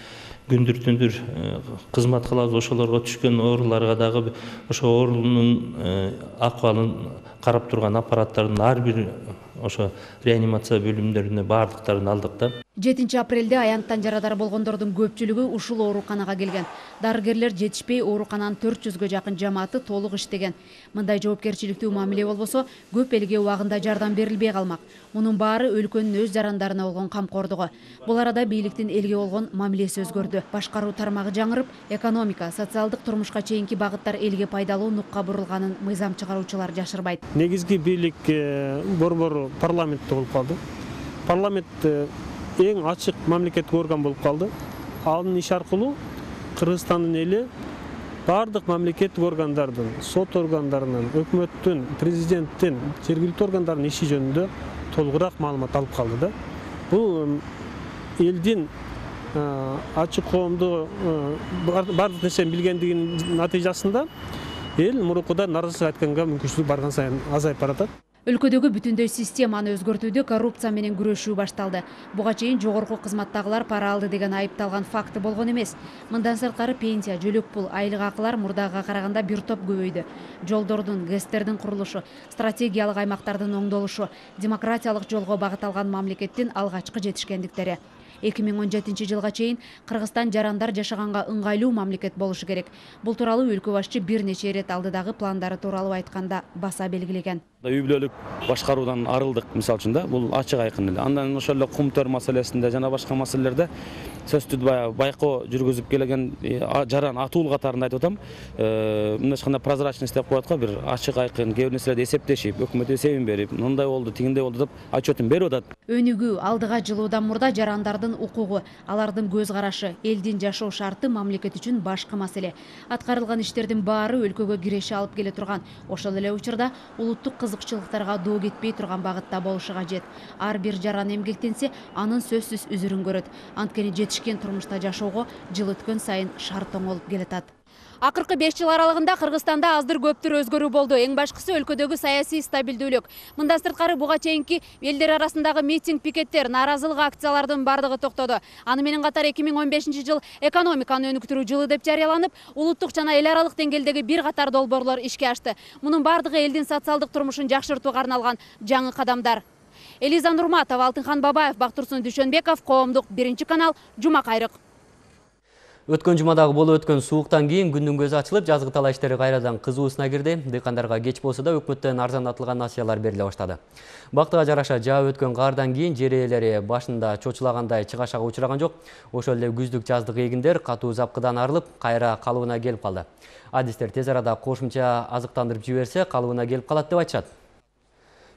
Speaker 23: күндүр-түндүр кызмат кылабыз. Ошолорго түшкөн ооруларга дагы ошо оорунун акыбалын карап турган аппараттардын ар бир ошо реанимация бөлүмдөрүнө бардыктарын алдык да.
Speaker 12: жетинчи апрелде аянттан жарадар болгондордун көпчүлүгү ушул ооруканага келген. Дарыгерлер жетишпей оорукананын төрт жүзгө жакын жамааты толук иштеген. Мындай жоопкерчиликтүү мамиле болбосо, көп элге убагында жардам берилбей калмак. Мунун баары өлкөнүн өз жарандарына болгон камкордугу. Бул арада бийликтин элге болгон мамилеси өзгөрдү. Башкаруу тармагы жаңырып, экономика, социалдык турмушка чейинки багыттар элге пайдалуу нукка бурулганын мыйзам чыгаруучулар жашырбайт.
Speaker 3: Негизги бийлик борбору парламентте болуп калды. Парламент эң ачык мамлекеттик орган болуп калды. Анын иш аркылуу Кыргызстандын эли бардык мамлекеттик органдардын, сот органдарынын, өкмөттүн, президенттин, жергиликтүү органдардын иши жөнүндө толугураак маалымат алып калды да. Бул элдин ачык коомду бардык нерсени билгендигинин натыйжасында эл мурукуда нааразычылык айтканга мүмкүнчүлүк барган сайын азайып баратат.
Speaker 12: Өлкөдөгү бүтүндөй системаны өзгөртүүдө коррупция менен күрөшүү башталды. Буга чейин жогорку кызматтагылар пара алды деген айыпталган факты болгон эмес. Мындан сырткары пенсия, жөлөк пул, айлык акылар мурдага караганда бир топ көбөйдү. Жолдордун, ГЭСтердин курулушу, стратегиялык аймактардын оңдолушу, демократиялык жолго багыт алган мамлекеттин алгачкы жетишкендиктери. эки миң он жетинчи жылга чейин Кыргызстан жарандар жашаганга ыңгайлуу мамлекет болушу керек. Бул тууралуу өлкө башчы бир нече ирет алдыдагы пландары тууралуу айтканда баса белгилеген.
Speaker 4: Үй бүлөлүк башкаруудан арылдык, мисалы үчүн да, бул ачык айкын эле. Андан ошол эле кум төр маселесинде жана башка маселелерде сөздү байкоо жүргүзүп келген жаран атуул катарында айтып атам. Мындай кандай прозрачность деп коет го, бир ачык айкын, кээ бир нерселерди эсептешип, өкмөт эсебин берип, мындай болду, тигиндей болду деп отчетун берип атат.
Speaker 12: Өнүгүү, алдыга жылуудан мурда жарандардын укугу, алардын көз карашы, элдин жашоо шарты мамлекет үчүн башкы маселе. Аткарылган иштердин баары өлкөгө киреше алып келе турган. Ошол эле учурда улуттук кызыкчылыктарга доо кетпей турган багытта болушу кажет. Ар бир жаран эмгектенсе, анын сөзсүз үзүрүн көрөт. Анткени жетишкен турмушта жашоого жыл өткөн сайын шарт оңолуп келатат. Акыркы беш жыл аралыгында Кыргызстанда аздыр көптүр өзгөрүү болду. Эң башкысы өлкөдөгү саясий стабилдүүлүк. Мындан сырткары буга чейинки элдер арасындагы митинг, пикеттер, нааразылык акциялардын бардыгы токтоду. Аны менен катар эки миң он бешинчи жыл экономиканы өнүктүрүү жылы деп жарыяланып, улуттук жана эл аралык деңгээлдеги бир катар долбоорлор ишке ашты. Мунун бардыгы элдин социалдык турмушун жакшыртууга арналган жаңы кадамдар. Элиза Нурматова, Алтынхан Бабаев, Бактурсун Дүйшөнбеков, Коомдук биринчи канал, Жума кайрык.
Speaker 1: Өткөн жумадагы болуп өткөн сууктан кийин күндүн көзү ачылып, жазгы талаа иштери кайрадан кызуусуна кирди. Дыйкандарга кеч болсо да өкмөттөн арзандатылган насыялар бериле баштады. Бактыга жараша жаап өткөн кардан кийин жер ээлери башында чочулагандай чыгашага учураган жок. Ошол эле күздүк жаздык эгиндер катуу запкыдан арылып, кайра калыбына келип калды. Адистер тез арада кошумча азыктандырып жиберсе, калыбына келип калат деп айтышат.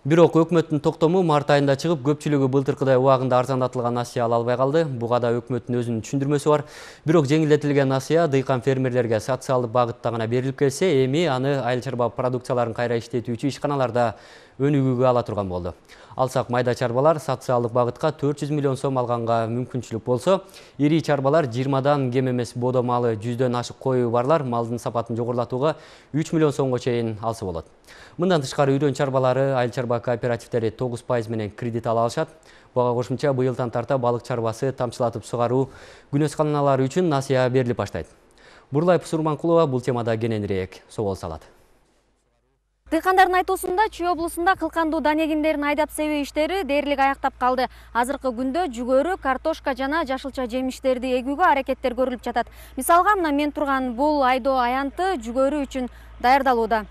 Speaker 1: Бирок өкмөттүн токтому март айында чыгып, көпчүлүгү былтыркыдай убагында арзандатылган насыя ала албай калды. Буга да өкмөттүн өзүнүн түшүндүрмөсү бар. Бирок жеңилдетилген насыя дыйкан фермерлерге социалдык багытта гана берилип келсе, эми аны айыл чарба продукцияларын кайра иштетүүчү ишканаларда өнүгүүгө ала турган болду. Алсак майда чарбалар социалдык багытка төрт жүз миллион сом алганга мүмкүнчүлүк болсо, ири чарбалар жыйырмадан кем эмес бодо малы жүздөн ашык коюу барлар малдын сапатын жогорулатууга үч миллион сомго чейин алса болот. Мындан тышкары үйрөн чарбалары, айыл чарба кооперативдери тогуз пайыз менен кредит ала алышат. Буга кошумча быйылдан тарта балык чарбасы, тамчылатып сугаруу күнөсканалары үчүн насыя берилип баштайт. Бурлай Пусурманкулова бул темада кененирээк собол салат.
Speaker 6: Дыйкандардын айтуусунда Чүй облусунда кылкандуу дан эгиндерин айдап себүү иштери дээрлик аяктап калды. Азыркы күндө жүгөрү, картошка жана жашылча жемиштерди эгүүгө аракеттер көрүлүп жатат. Мисалга, мына мен турган бул айдоо аянты жүгөрү үчүн даярдалууда.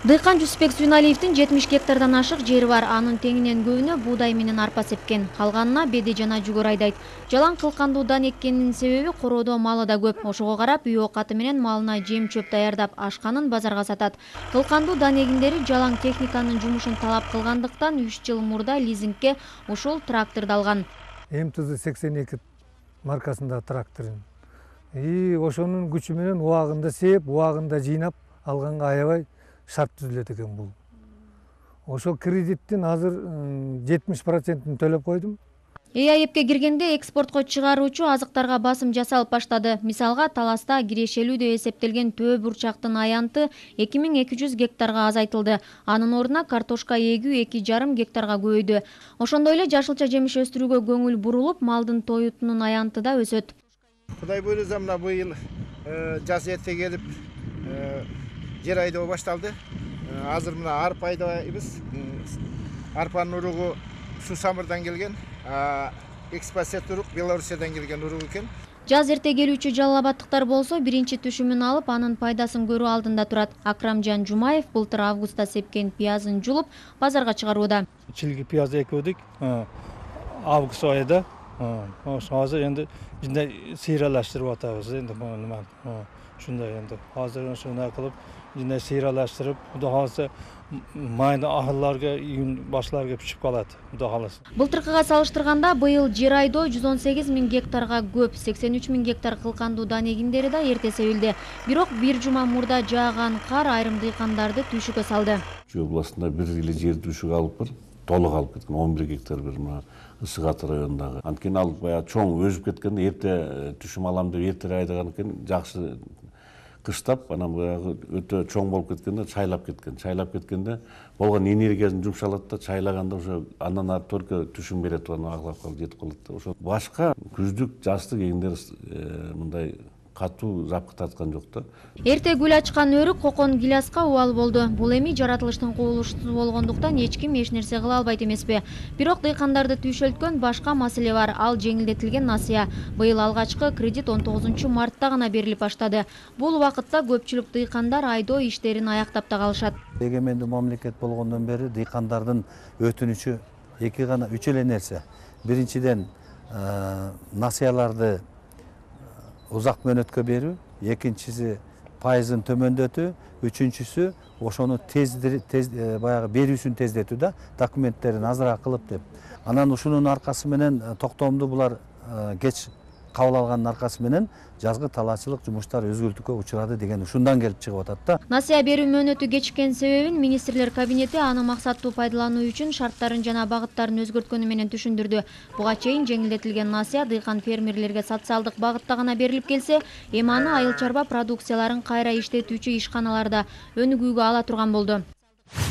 Speaker 24: Дыйкан Жүсүпбек Сүйналиевдин жетимиш гектардан ашык жери бар. Анын теңинен көбүнө буудай менен арпа сепкен. Калганына беди жана жүгөр айдайт. Жалаң кылкандуу дан эккенинин себеби короодо малы да көп. Ошого карап үй оокаты менен малына жем чөп даярдап ашканын базарга сатат. Кылкандуу дан эгиндери жалаң техниканын жумушун талап кылгандыктан үч жыл мурда лизингке ушул тракторду алган.
Speaker 25: эм тэ зэ сексен эки маркасындагы тракторун. И ошонун күчү менен убагында сеп, убагында жыйнап алганга аябай шарт түзүлөт экен бул. Ошол кредиттин азыр жетимиш процентин төлөп койдум.
Speaker 24: Э а эпке киргенде экспортко чыгаруучу азыктарга басым жасалып баштады. Мисалга, Таласта кирешелүү деп эсептелген төө бурчактын аянты эки миң эки жүз гектарга азайтылды. Анын ордуна картошка эгүү эки жарым гектарга көбөйдү. Ошондой эле жашылча жемиш өстүрүүгө көңүл бурулуп, малдын тоютунун аянты да өсөт.
Speaker 26: Кудай буйрса, мына быйыл жаз эрте келип жер айдоо башталды. Азыр мына арпа айдайбыз. Арпанын уругу Суу Самырдан келген. экспозиция турук Белоруссиядан келген урук экен.
Speaker 24: Жаз эрте келүүчү жалал абадтыктар болсо биринчи түшүмүн алып, анын пайдасын көрүү алдында турат. Акрамжан Жумаев былтыр августта сепкен пиязын жулуп, базарга чыгарууда.
Speaker 25: Чилги пияз экүүдүк август айында. Азыр энди жинде сейралаштырып атабыз энди нема. Ушундай энди азыр ушундай кылып жинде сейралаштырып, Кудай кааласа майда ахырларга, июнь башларга пишип калат. Кудай кааласа.
Speaker 24: Былтыркыга салыштырганда быйыл жер айдоо жүз он сегиз миң гектарга көп, сексен үч миң гектар кылкандуу дан эгиндери да эрте себилди. Бирок бир жума мурда жааган кар айрым дыйкандарды түйшүккө салды.
Speaker 5: Чүй областында бир эле жер түйшүк алып бар, толук алып кеткен, он бир гектар бир мына Ысык Аты районундагы. Анткени ал баягы чоң өсүп кеткенде эрте түшүм алам деп эртерээк айдаган экен, жакшы кыштап, анан баягы өтө чоң болуп кеткенде чайлап кеткен. Чайлап кеткенде болгон энергиясын жумшалат да, чайлаганда ошо андан ары только түшүм берет, аны аглап калып жетип калат да. Ошо башка күздүк, жаштык эгиндер мындай катуу жапкы тарткан жок да.
Speaker 24: Эрте гүл ачкан өрүк кокон гиляска убал болду. Бул эми жаратылыштын кубулуштуу болгондуктан эч ким эч нерсе кыла албайт эмеспи. Бирок дыйкандарды түйшөлткөн башка маселе бар. Ал жеңилдетилген насыя. Быйыл алгачкы кредит он тогузунчу мартта гана берилип баштады. Бул убакытта көпчүлүк дыйкандар айдоо иштерин аяктап да калышат.
Speaker 7: Эгемендүү мамлекет болгондон бери дыйкандардын өтүнүчү эки гана үч эле нерсе. Биринчиден насыяларды узак мөөнөткө берүү, экинчиси пайызын төмөндөтүү, үчүнчүсү ошону тез тез баягы берүүсүн тездетүү да, документтерин азыраак кылып деп. Анан ушунун аркасы менен токтомду булар кеч кабыл алганын аркасы менен жазгы талаачылык жумуштары өзгөртүүгө учурады деген ушундан келип чыгып атат да.
Speaker 24: Насыя берүү мөөнөтү кечиккен себебин министрлер кабинети аны максаттуу пайдалануу үчүн шарттарын жана багыттарын өзгөрткөнү менен түшүндүрдү. Буга чейин жеңилдетилген насыя дыйкан фермерлерге социалдык багытта гана берилип келсе, эми аны айыл чарба продукцияларын кайра иштетүүчү ишканаларда өнүгүүгө ала турган болду.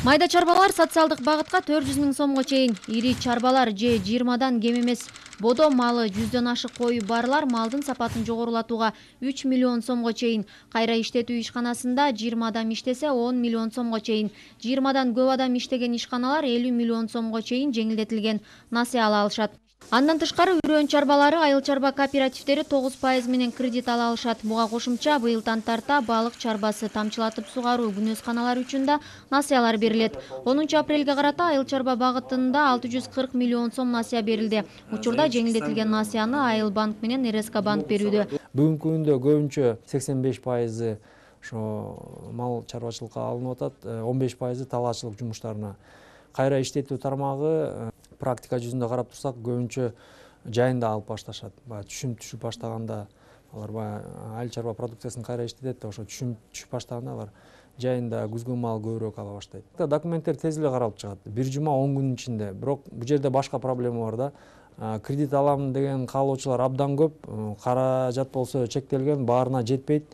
Speaker 24: Майда чарбалар социалдык багытка төрт жүз миң сомго чейин, ири чарбалар же жыйырмадан кем эмес бодо малы жүздөн ашык кою барлар малдын сапатын жогорулатууга үч миллион сомго чейин, кайра иштетүү ишканасында жыйырма адам иштесе он миллион сомго чейин, жыйырмадан көп адам иштеген ишканалар элүү миллион сомго чейин жеңилдетилген насыя ала алышат. Андан тышкары үрөөн чарбалары айыл чарба кооперативдери тогуз пайыз менен кредит ала алышат. Буга кошумча быйылдан тарта балык чарбасы, тамчылатып сугаруу, күнөсканалар үчүн да насыялар берилет. онунчу апрелге карата айыл чарба багытында алты жүз кырк миллион сом насыя берилди. Учурда жеңилдетилген насыяны Айыл банк менен эр эс ка банк берүүдө.
Speaker 22: Бүгүнкү күндө көбүнчө сексен беш пайызы ошо мал чарбачылыкка алынып атат, он беш пайызы талаачылык жумуштарына. Кайра иштетүү тармагы практика жүзүндө карап турсак, көбүнчө жайында алып башташат. Баягы түшүм түшүп баштаганда алар баягы айыл чарба продукциясын кайра иштетет, ошо түшүм түшүп баштаганда алар жайында күзгү мал көбүрөөк ала баштайт. Документтер тез эле каралып чыгат. Бир жума он күнүн ичинде. Бирок бул жерде башка проблема бар да. Кредит алам деген каалоочулар абдан көп. Каражат болсо чектелген, баарына жетпейт.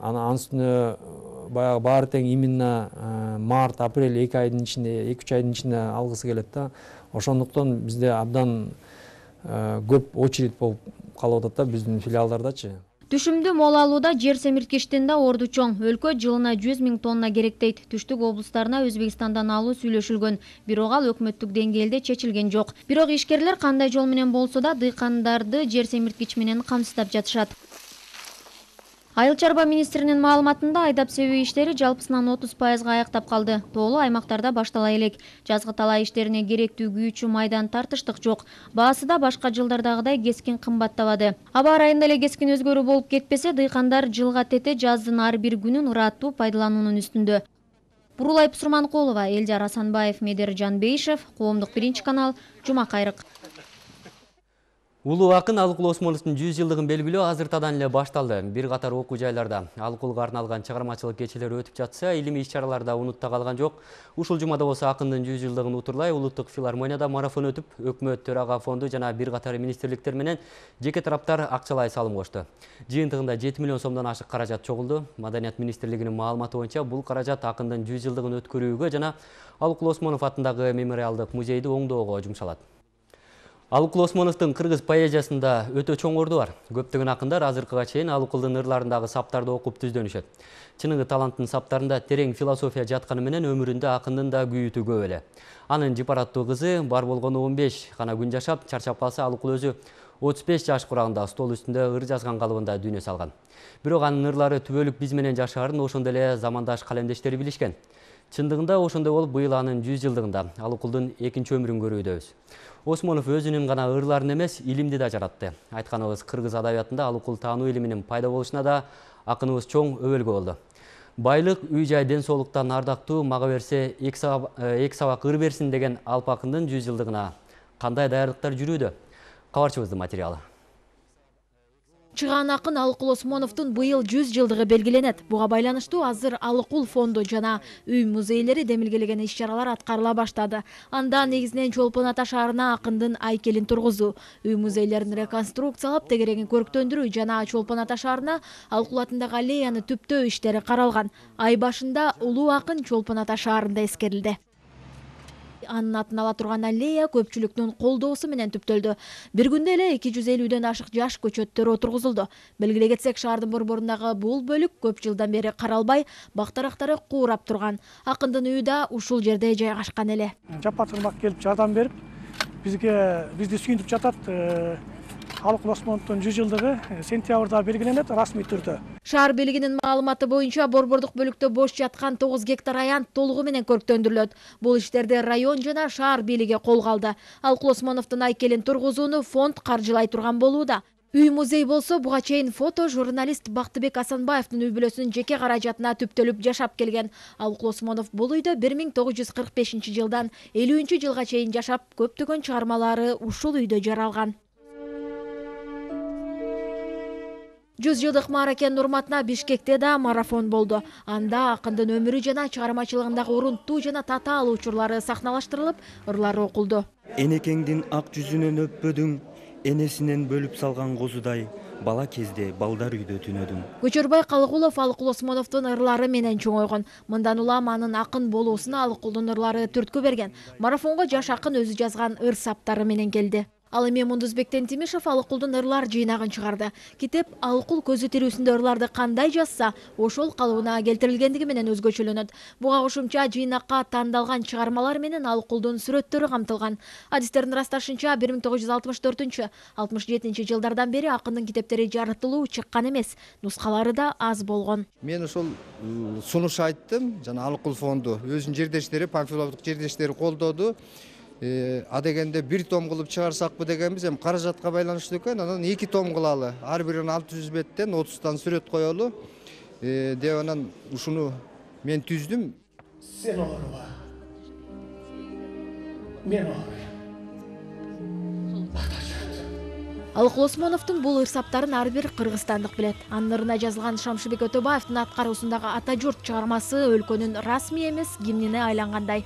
Speaker 22: Анын үстүнө баягы баары тең именно март, апрель эки айдын ичинде, эки үч айдын ичинде алгысы келет да. Ошондуктан бизде абдан көп очередь болуп калып атат да биздин филиалдардачы.
Speaker 24: Түшүмдү мол алууда жер семирткичтин да орду чоң. Өлкө жылына жүз миң тонна керектейт. Түштүк облустарына Өзбекстандан алуу сүйлөшүлгөн. Бирок ал өкмөттүк деңгээлде чечилген жок. Бирок ишкерлер кандай жол менен болсо да дыйкандарды жер семирткич менен камсыздап жатышат. Айыл чарба министринин маалыматында айдап себүү иштери жалпысынан отуз пайызга аяктап калды. Тоолуу аймактарда баштала элек. Жазгы талаа иштерине керектүү күйүүчү майдан тартыштык жок. Баасы да башка жылдардагыдай кескин кымбаттабады. Аба ырайында эле кескин өзгөрүү болуп кетпесе, дыйкандар жылга тете жаздын ар бир күнүн ыраттуу пайдалануунун үстүндө. Бурулай Пусурманкулова, Элжар Асанбаев, Медер Жанбейшев, Коомдук биринчи канал, Жума кайрык.
Speaker 1: Улуу акын Алыкул Осмоновдун жүз жылдыгын белгилөө азыртадан эле башталды. Бир катар окуу жайларда Алыкулга арналган чыгармачылык кечелери өтүп жатса, илимий иш-чараларда унутта калган жок. Ушул жумада болсо акындын жүз жылдыгын утурлай улуттук филармонияда марафон өтүп, өкмөт төрага фонду жана бир катар министрликтер менен жеке тараптар акчалай салым кошту. Жыйынтыгында жети миллион сомдон ашык каражат чогулду. Маданият министрлигинин маалыматы боюнча бул каражат акындын жүз жылдыгын өткөрүүгө жана Алыкул Осмонов атындагы мемориалдык музейди оңдоого жумшалат. Алыкул Осмоновдун кыргыз поэзиясында өтө чоң орду бар. Көптөгөн акындар азыркыга чейин Алыкулдун ырларындагы саптарды окуп түздөнүшөт. Чыныгы таланттын саптарында терең философия жатканы менен өмүрүндө акындын да күйүтү көп эле. Анын жипараттуу кызы бар болгону он беш гана күн жашап, чарчап калса Алыкул өзү отуз беш жаш курагында стол үстүндө ыр жазган калыбында дүйнө салган. Бирок анын ырлары түбөлүк биз менен жашаарын ошондой эле замандаш калемдештери билишкен. Чындыгында ошондой болуп, быйыл анын жүз жылдыгында Алыкулдун экинчи өмүрүн көрүүдөбүз. Осмонов өзүнүн гана ырларын эмес, илимди да жаратты. Айтканыбыз, кыргыз адабиятында Алыкул таануу илиминин пайда болушуна да акыныбыз чоң өбөлгө болду. Байлык, үй-жай, ден соолуктан ардактуу, мага берсе эки сабак ыр берсин деген Алп акындын жүз жылдыгына кандай даярдыктар жүрүүдө? Кабарчыбыздын материалы.
Speaker 12: Чыган акын Алыкул Осмоновдун быйыл жүз жылдыгы белгиленет. Буга байланыштуу азыр Алыкул фонду жана үй музейлери демилгелеген иш-чаралар аткарыла баштады. Анда негизинен Чолпон Ата шаарына акындын айкелин тургузуу, үй музейлерин реконструкциялап, тегерегин көрктөндүрүү жана Чолпон Ата шаарына Алыкул атындагы аллеяны түптөө иштери каралган. Ай башында улуу акын Чолпон Ата шаарында эскерилди. Анын атын ала турган аллея көпчүлүктүн колдоосу менен түптөлдү. Бир күндө эле эки жүз элүүдөн ашык жаш көчөттөр отургузулду. Белгилей кетсек, шаардын борборундагы бул бөлүк көп жылдан бери каралбай, бактарактары куурап турган. Акындын үйү да ушул жерде жайгашкан эле.
Speaker 2: Жапа-турмак келип жардам берип, бизге бизди сүйүнтүп жатат. Алыкул Осмоновдун жүз жылдыгы сентябрда белгиленет расмий түрдө.
Speaker 12: Шаар бийлигинин маалыматы боюнча борбордук бөлүктө бош жаткан тогуз гектар аянт толугу менен көрктөндүрүлөт. Бул иштерди район жана шаар бийлиги колго алды. Алыкул Осмоновдун айкелин тургузууну фонд каржылай турган болууда. Үй музей болсо буга чейин фото журналист Бактыбек Асанбаевдин үй бүлөсүнүн жеке каражатына түптөлүп жашап келген. Алыкул Осмонов бул үйдө бир миң тогуз жүз кырк бешинчи жылдан элүүнчү жылга чейин жашап, көптөгөн чыгармалары ушул үйдө жаралган. жүз жылдык мааракенин урматына Бишкекте да марафон болду. Анда акындын өмүрү жана чыгармачылыгындагы урунттуу жана татаал учурлары сахналаштырылып, ырлары окулду.
Speaker 8: Энекеңдин ак жүзүнөн өппөдүң, энесинен бөлүп салган козудай, бала кезде балдар үйдө түнөдүм.
Speaker 12: Көчөрбай Калыгулов Алыкул Осмоновдун ырлары менен чоңойгон. Мындан улам анын акын болуусуна Алыкулдун ырлары түрткү берген. Марафонго жаш акын өзү жазган ыр саптары менен келди. Ал эми Мундузбектен Тимишев Алыкулдун ырлар жыйнагын чыгарды. Китеп Алыкул көзү тирүүсүндө ырларды кандай жазса, ошол калыбына келтирилгендиги менен өзгөчөлөнөт. Буга кошумча жыйнакка тандалган чыгармалар менен Алыкулдун сүрөттөрү камтылган. Адистердин ырасташынча бир миң тогуз жүз алтымыш төртүнчү — алтымыш жетинчи жылдардан бери акындын китептери жарытылуу чыккан эмес, нускалары да аз болгон.
Speaker 10: Мен ошол сунуш айттым, жана Алыкул фонду өзүнүн жердештери, памфиловдук жердештери колдоду. А дегенде бир том кылып чыгарсакпы дегенбиз, эми каражатка байланыштуу экен, анан эки том кылалы. Ар бирин алты жүз беттен отуздан сүрөт коелу деп анан ушуну мен түздүм.
Speaker 2: Сен ооруба. Мен ооруйм.
Speaker 12: Алыкул Осмоновдун бул ыр-саптарын ар бир кыргызстандык билет. Анын ырына жазылган Шамшыбек Өтөбаевдин аткаруусундагы Ата журт чыгармасы өлкөнүн расмий эмес гимнине айлангандай.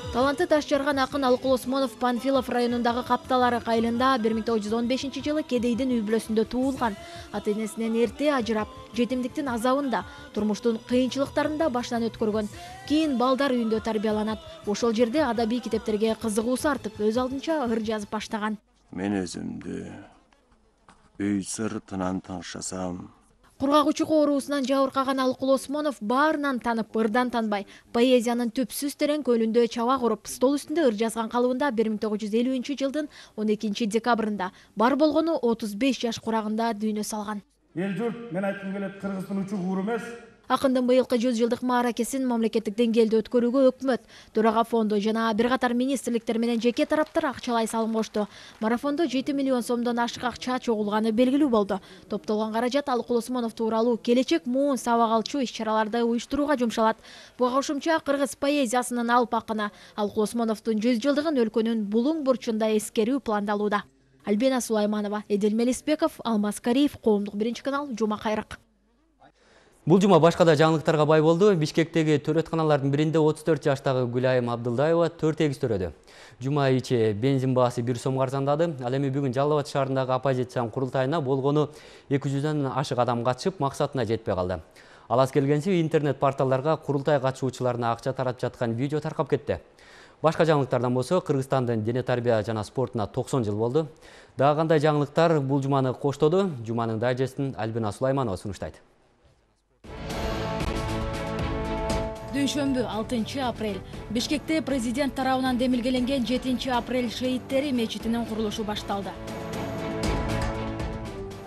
Speaker 12: Таланты таш жарган акын Алыкул Осмонов Панфилов районундагы Капталары айылында бир миң тогуз жүз он бешинчи жылы кедейдин үй бүлөсүндө туулган. Ата-энесинен эрте ажырап, жетимдиктин азабында, турмуштун кыйынчылыктарында башынан өткөргөн. Кийин балдар үйүндө тарбияланат. Ошол жерде адабий китептерге кызыгуусу артып, өз алдынча ыр жазып баштаган.
Speaker 11: Мен өзүмдү үй сыртынан таңшасам,
Speaker 12: Кургагучук оорусунан жабыркаган Алыкул Осмонов баарынан танып, ырдан танбай, поэзиянын түпсүз терең көлүндө чаба куруп, стол үстүндө ыр жазган калыбында бир миң тогуз жүз элүүнчү жылдын он экинчи декабрында бар болгону отуз беш жаш курагында дүйнө салган.
Speaker 2: Эл журт, мен айткым келет, Кыргыздын учу куур эмес.
Speaker 12: Акындын быйылкы жүз жылдык мааракесин мамлекеттик деңгээлде өткөрүүгө өкмөт, төрага фонду жана бир катар министрликтер менен жеке тараптар акчалай салым кошту. Марафондо жети миллион сомдон ашык акча чогулганы белгилүү болду. Топтолгон каражат Алыкул Осмонов тууралуу келечек муун сабак алчу иш-чараларды уюштурууга жумшалат. Буга кошумча кыргыз поэзиясынын алып акыны Алыкул Осмоновдун жүз жылдыгын өлкөнүн булуң бурчунда эскерүү пландалууда. Альбина Сулайманова, Эдил Мелисбеков, Алмаз Кариев, Коомдук биринчи канал, Жума кайрык.
Speaker 1: Бул жума башка да жаңылыктарга бай болду. Бишкектеги төрөтканалардын биринде отуз төрт жаштагы Гүлайым Абдылдаева төрт эгиз төрөдү. Жума ичи бензин баасы бир сомго арзандады. Ал эми бүгүн Жалал Абад шаарындагы оппозициянын курултайына болгону эки жүздөн ашык адам катышып, максатына жетпей калды. Алас келгенси интернет порталдарга курултай катышуучуларына акча таратып жаткан видео таркап кетти. Башка жаңылыктардан болсо, Кыргызстандын дене тарбия жана спортуна токсон жыл болду. Дагы кандай жаңылыктар бул жуманы коштоду? Жуманын дайжестин Альбина Сулайманова сунуштайт.
Speaker 9: Дүйшөмбү алтынчы апрель. Бишкекте президент тарабынан демилгеленген жетинчи апрель шейиттери мечитинин курулушу башталды.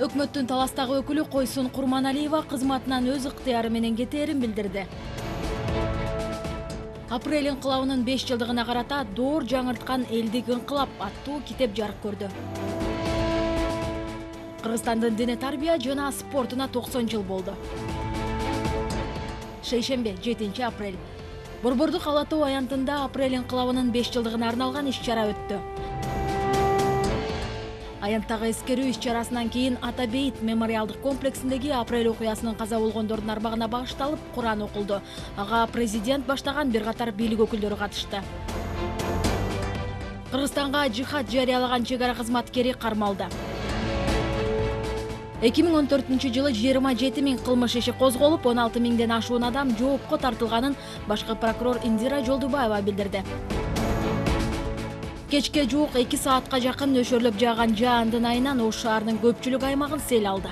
Speaker 9: Өкмөттүн Таластагы өкүлү Койсун Курманалиева кызматынан өз ыктыяры менен кетээрин билдирди. Апрель инкылабынын беш жылдыгына карата доор жаңырткан элдик инкылап аттуу китеп жарык көрдү. Кыргызстандын дене тарбия жана спортуна токсон жыл болду. Шейшембе жетинчи апрель. Борбордук Ала Тоо аянтында апрель инкылабынын беш жылдыгына арналган иш-чара өттү. Аянттагы эскерүү иш-чарасынан кийин Ата Бейит мемориалдык комплексиндеги апрель окуясынын каза болгондордун арбагына багышталып Куран окулду. Ага президент баштаган бир катар бийлик өкүлдөрү катышты. Кыргызстанга жихад жарыялаган чек ара кызматкери кармалды. эки миң он төртүнчү жылы жыйырма жети миң кылмыш иши козголуп, он алты миңден ашуун адам жоопко тартылганын башкы прокурор Индира Жолдубаева билдирди. Кечке жуук эки саатка жакын нөшөрлөп жааган жаандын айынан Ош шаарынын көпчүлүк аймагын сел алды.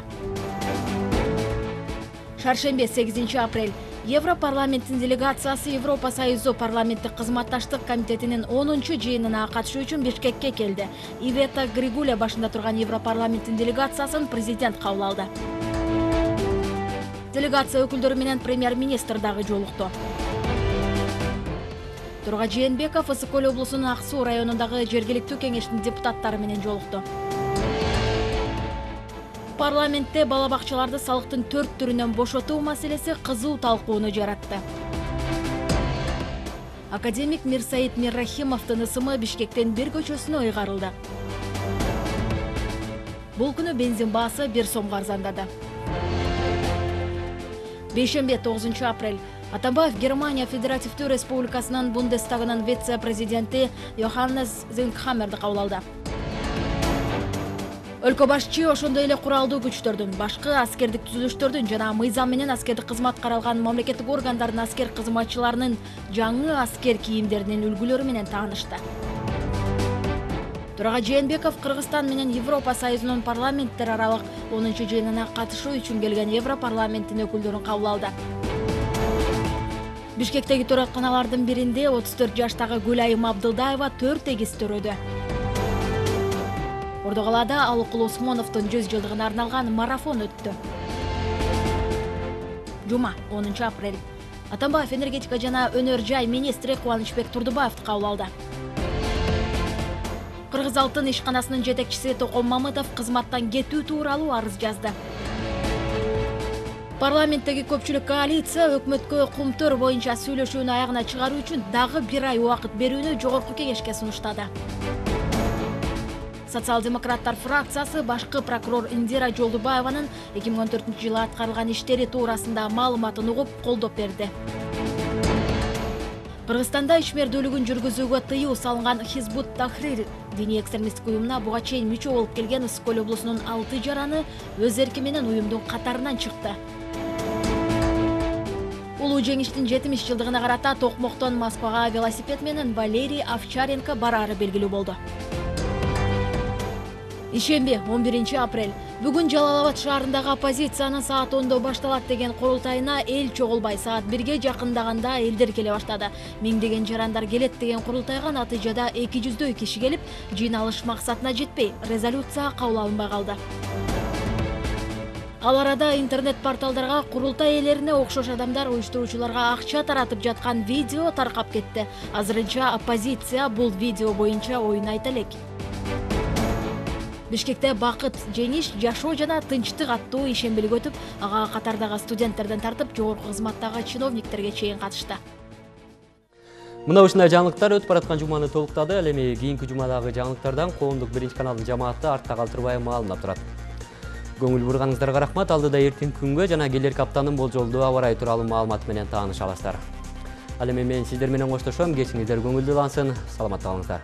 Speaker 9: Шаршембе сегизинчи апрель. Европарламенттин делегациясы Европа Союзу парламенттик кызматташтык комитетинин онунчу жыйынына катышуу үчүн Бишкекке келди. Ивета Григуля башында турган Европарламенттин делегациясын президент кабыл алды. Делегация өкүлдөрү менен премьер-министр дагы жолукту. Турга Жээнбеков Ысык-Көл облусунун Ак Суу районундагы жергиликтүү кеңештин депутаттары менен жолукту. Парламентте бала бакчаларды салыктын төрт түрүнөн бошотуу маселеси кызуу талкууну жаратты. Академик Мирсаид Миррахимовдун ысымы Бишкектен бир көчөсүнө ыйгарылды. Бул күнү бензин баасы бир сомго арзандады. Бейшембе тогузунчу апрель. Атамбаев Германия Федеративдүү Республикасынын Бундестагынын вице-президенти Йоханнес Зингхаммерди кабыл алды. Өлкө башчы ошондой эле куралдуу күчтөрдүн, башкы аскердик түзүлүштөрдүн жана мыйзам менен аскердик кызмат каралган мамлекеттик органдардын аскер кызматчыларынын жаңы аскер кийимдеринин үлгүлөрү менен таанышты. Турга Жээнбеков Кыргызстан менен Европа Союзунун парламенттер аралык онунчу жыйынына катышуу үчүн келген Европарламенттин өкүлдөрүн кабыл алды. Бишкектеги төрөтканалардын биринде отуз төрт жаштагы Гүлайым Абдылдаева төрт эгиз төрөдү. Ордогалада Алыкул Осмоновдун жүз жылдыгына арналган марафон өттү. Жума онунчу апрель. Атамбаев энергетика жана өнөр жай министри Кубанычбек Турдубаевди кабыл алды. Кыргыз алтын ишканасынын жетекчиси Током Мамытов кызматтан кетүү тууралуу арыз жазды. Парламенттеги көпчүлүк коалиция өкмөткө кумтөр боюнча сүйлөшүүнү аягына чыгаруу үчүн дагы бир ай убакыт берүүнү жогорку кеңешке сунуштады. Социал-демократтар фракциясы башкы прокурор Индира Жолдубаеванын эки миң он төртүнчү жылы аткарылган иштери туурасында маалыматын угуп колдоп берди. Кыргызстанда ишмердүүлүгүн жүргүзүүгө тыюу салынган Хизбут Тахрир диний экстремисттик уюмуна буга чейин мүчө болуп келген Ысык-Көл облусунун алты жараны өз эрки менен уюмдун катарынан чыкты. Улуу жеңиштин жетимиш жылдыгына карата Токмоктон Москвага велосипед менен Валерий Овчаренко бараары белгилүү болду. Ишембе он биринчи апрель. Бүгүн Жалал Абад шаарындагы оппозициянын саат ондо башталат деген курултайына эл чогулбай саат бирге жакындаганда элдер келе баштады. Миңдеген жарандар келет деген курултайга натыйжада эки жүздөй киши келип, жыйналыш максатына жетпей, резолюция кабыл алынбай калды. Ал арада интернет порталдарга курултай ээлерине окшош адамдар уюштуруучуларга акча таратып жаткан видео таркап кетти. Азырынча оппозиция бул видео боюнча оюн айта элек. Бишкекте бакыт, жеңиш, жашоо жана тынчтык аттуу ишембелик өтүп, ага катардагы студенттерден тартып жогорку кызматтагы чиновниктерге чейин катышты.
Speaker 1: Мына ушундай жаңылыктар өтүп бараткан жуманы толуктады. Ал эми кийинки жумадагы жаңылыктардан коомдук биринчи каналдын жамааты артта калтырбай маалымат турат. Көңүл бурганыңыздарга рахмат. Алдыда эртең күнгө жана келерки аптанын болжолдуу аба ырайы тууралуу маалымат менен тааныша аласыздар. Ал эми мен сиздер менен коштошом. Кечиңиздер көңүлдүү улансын. Саламатта калыңыздар.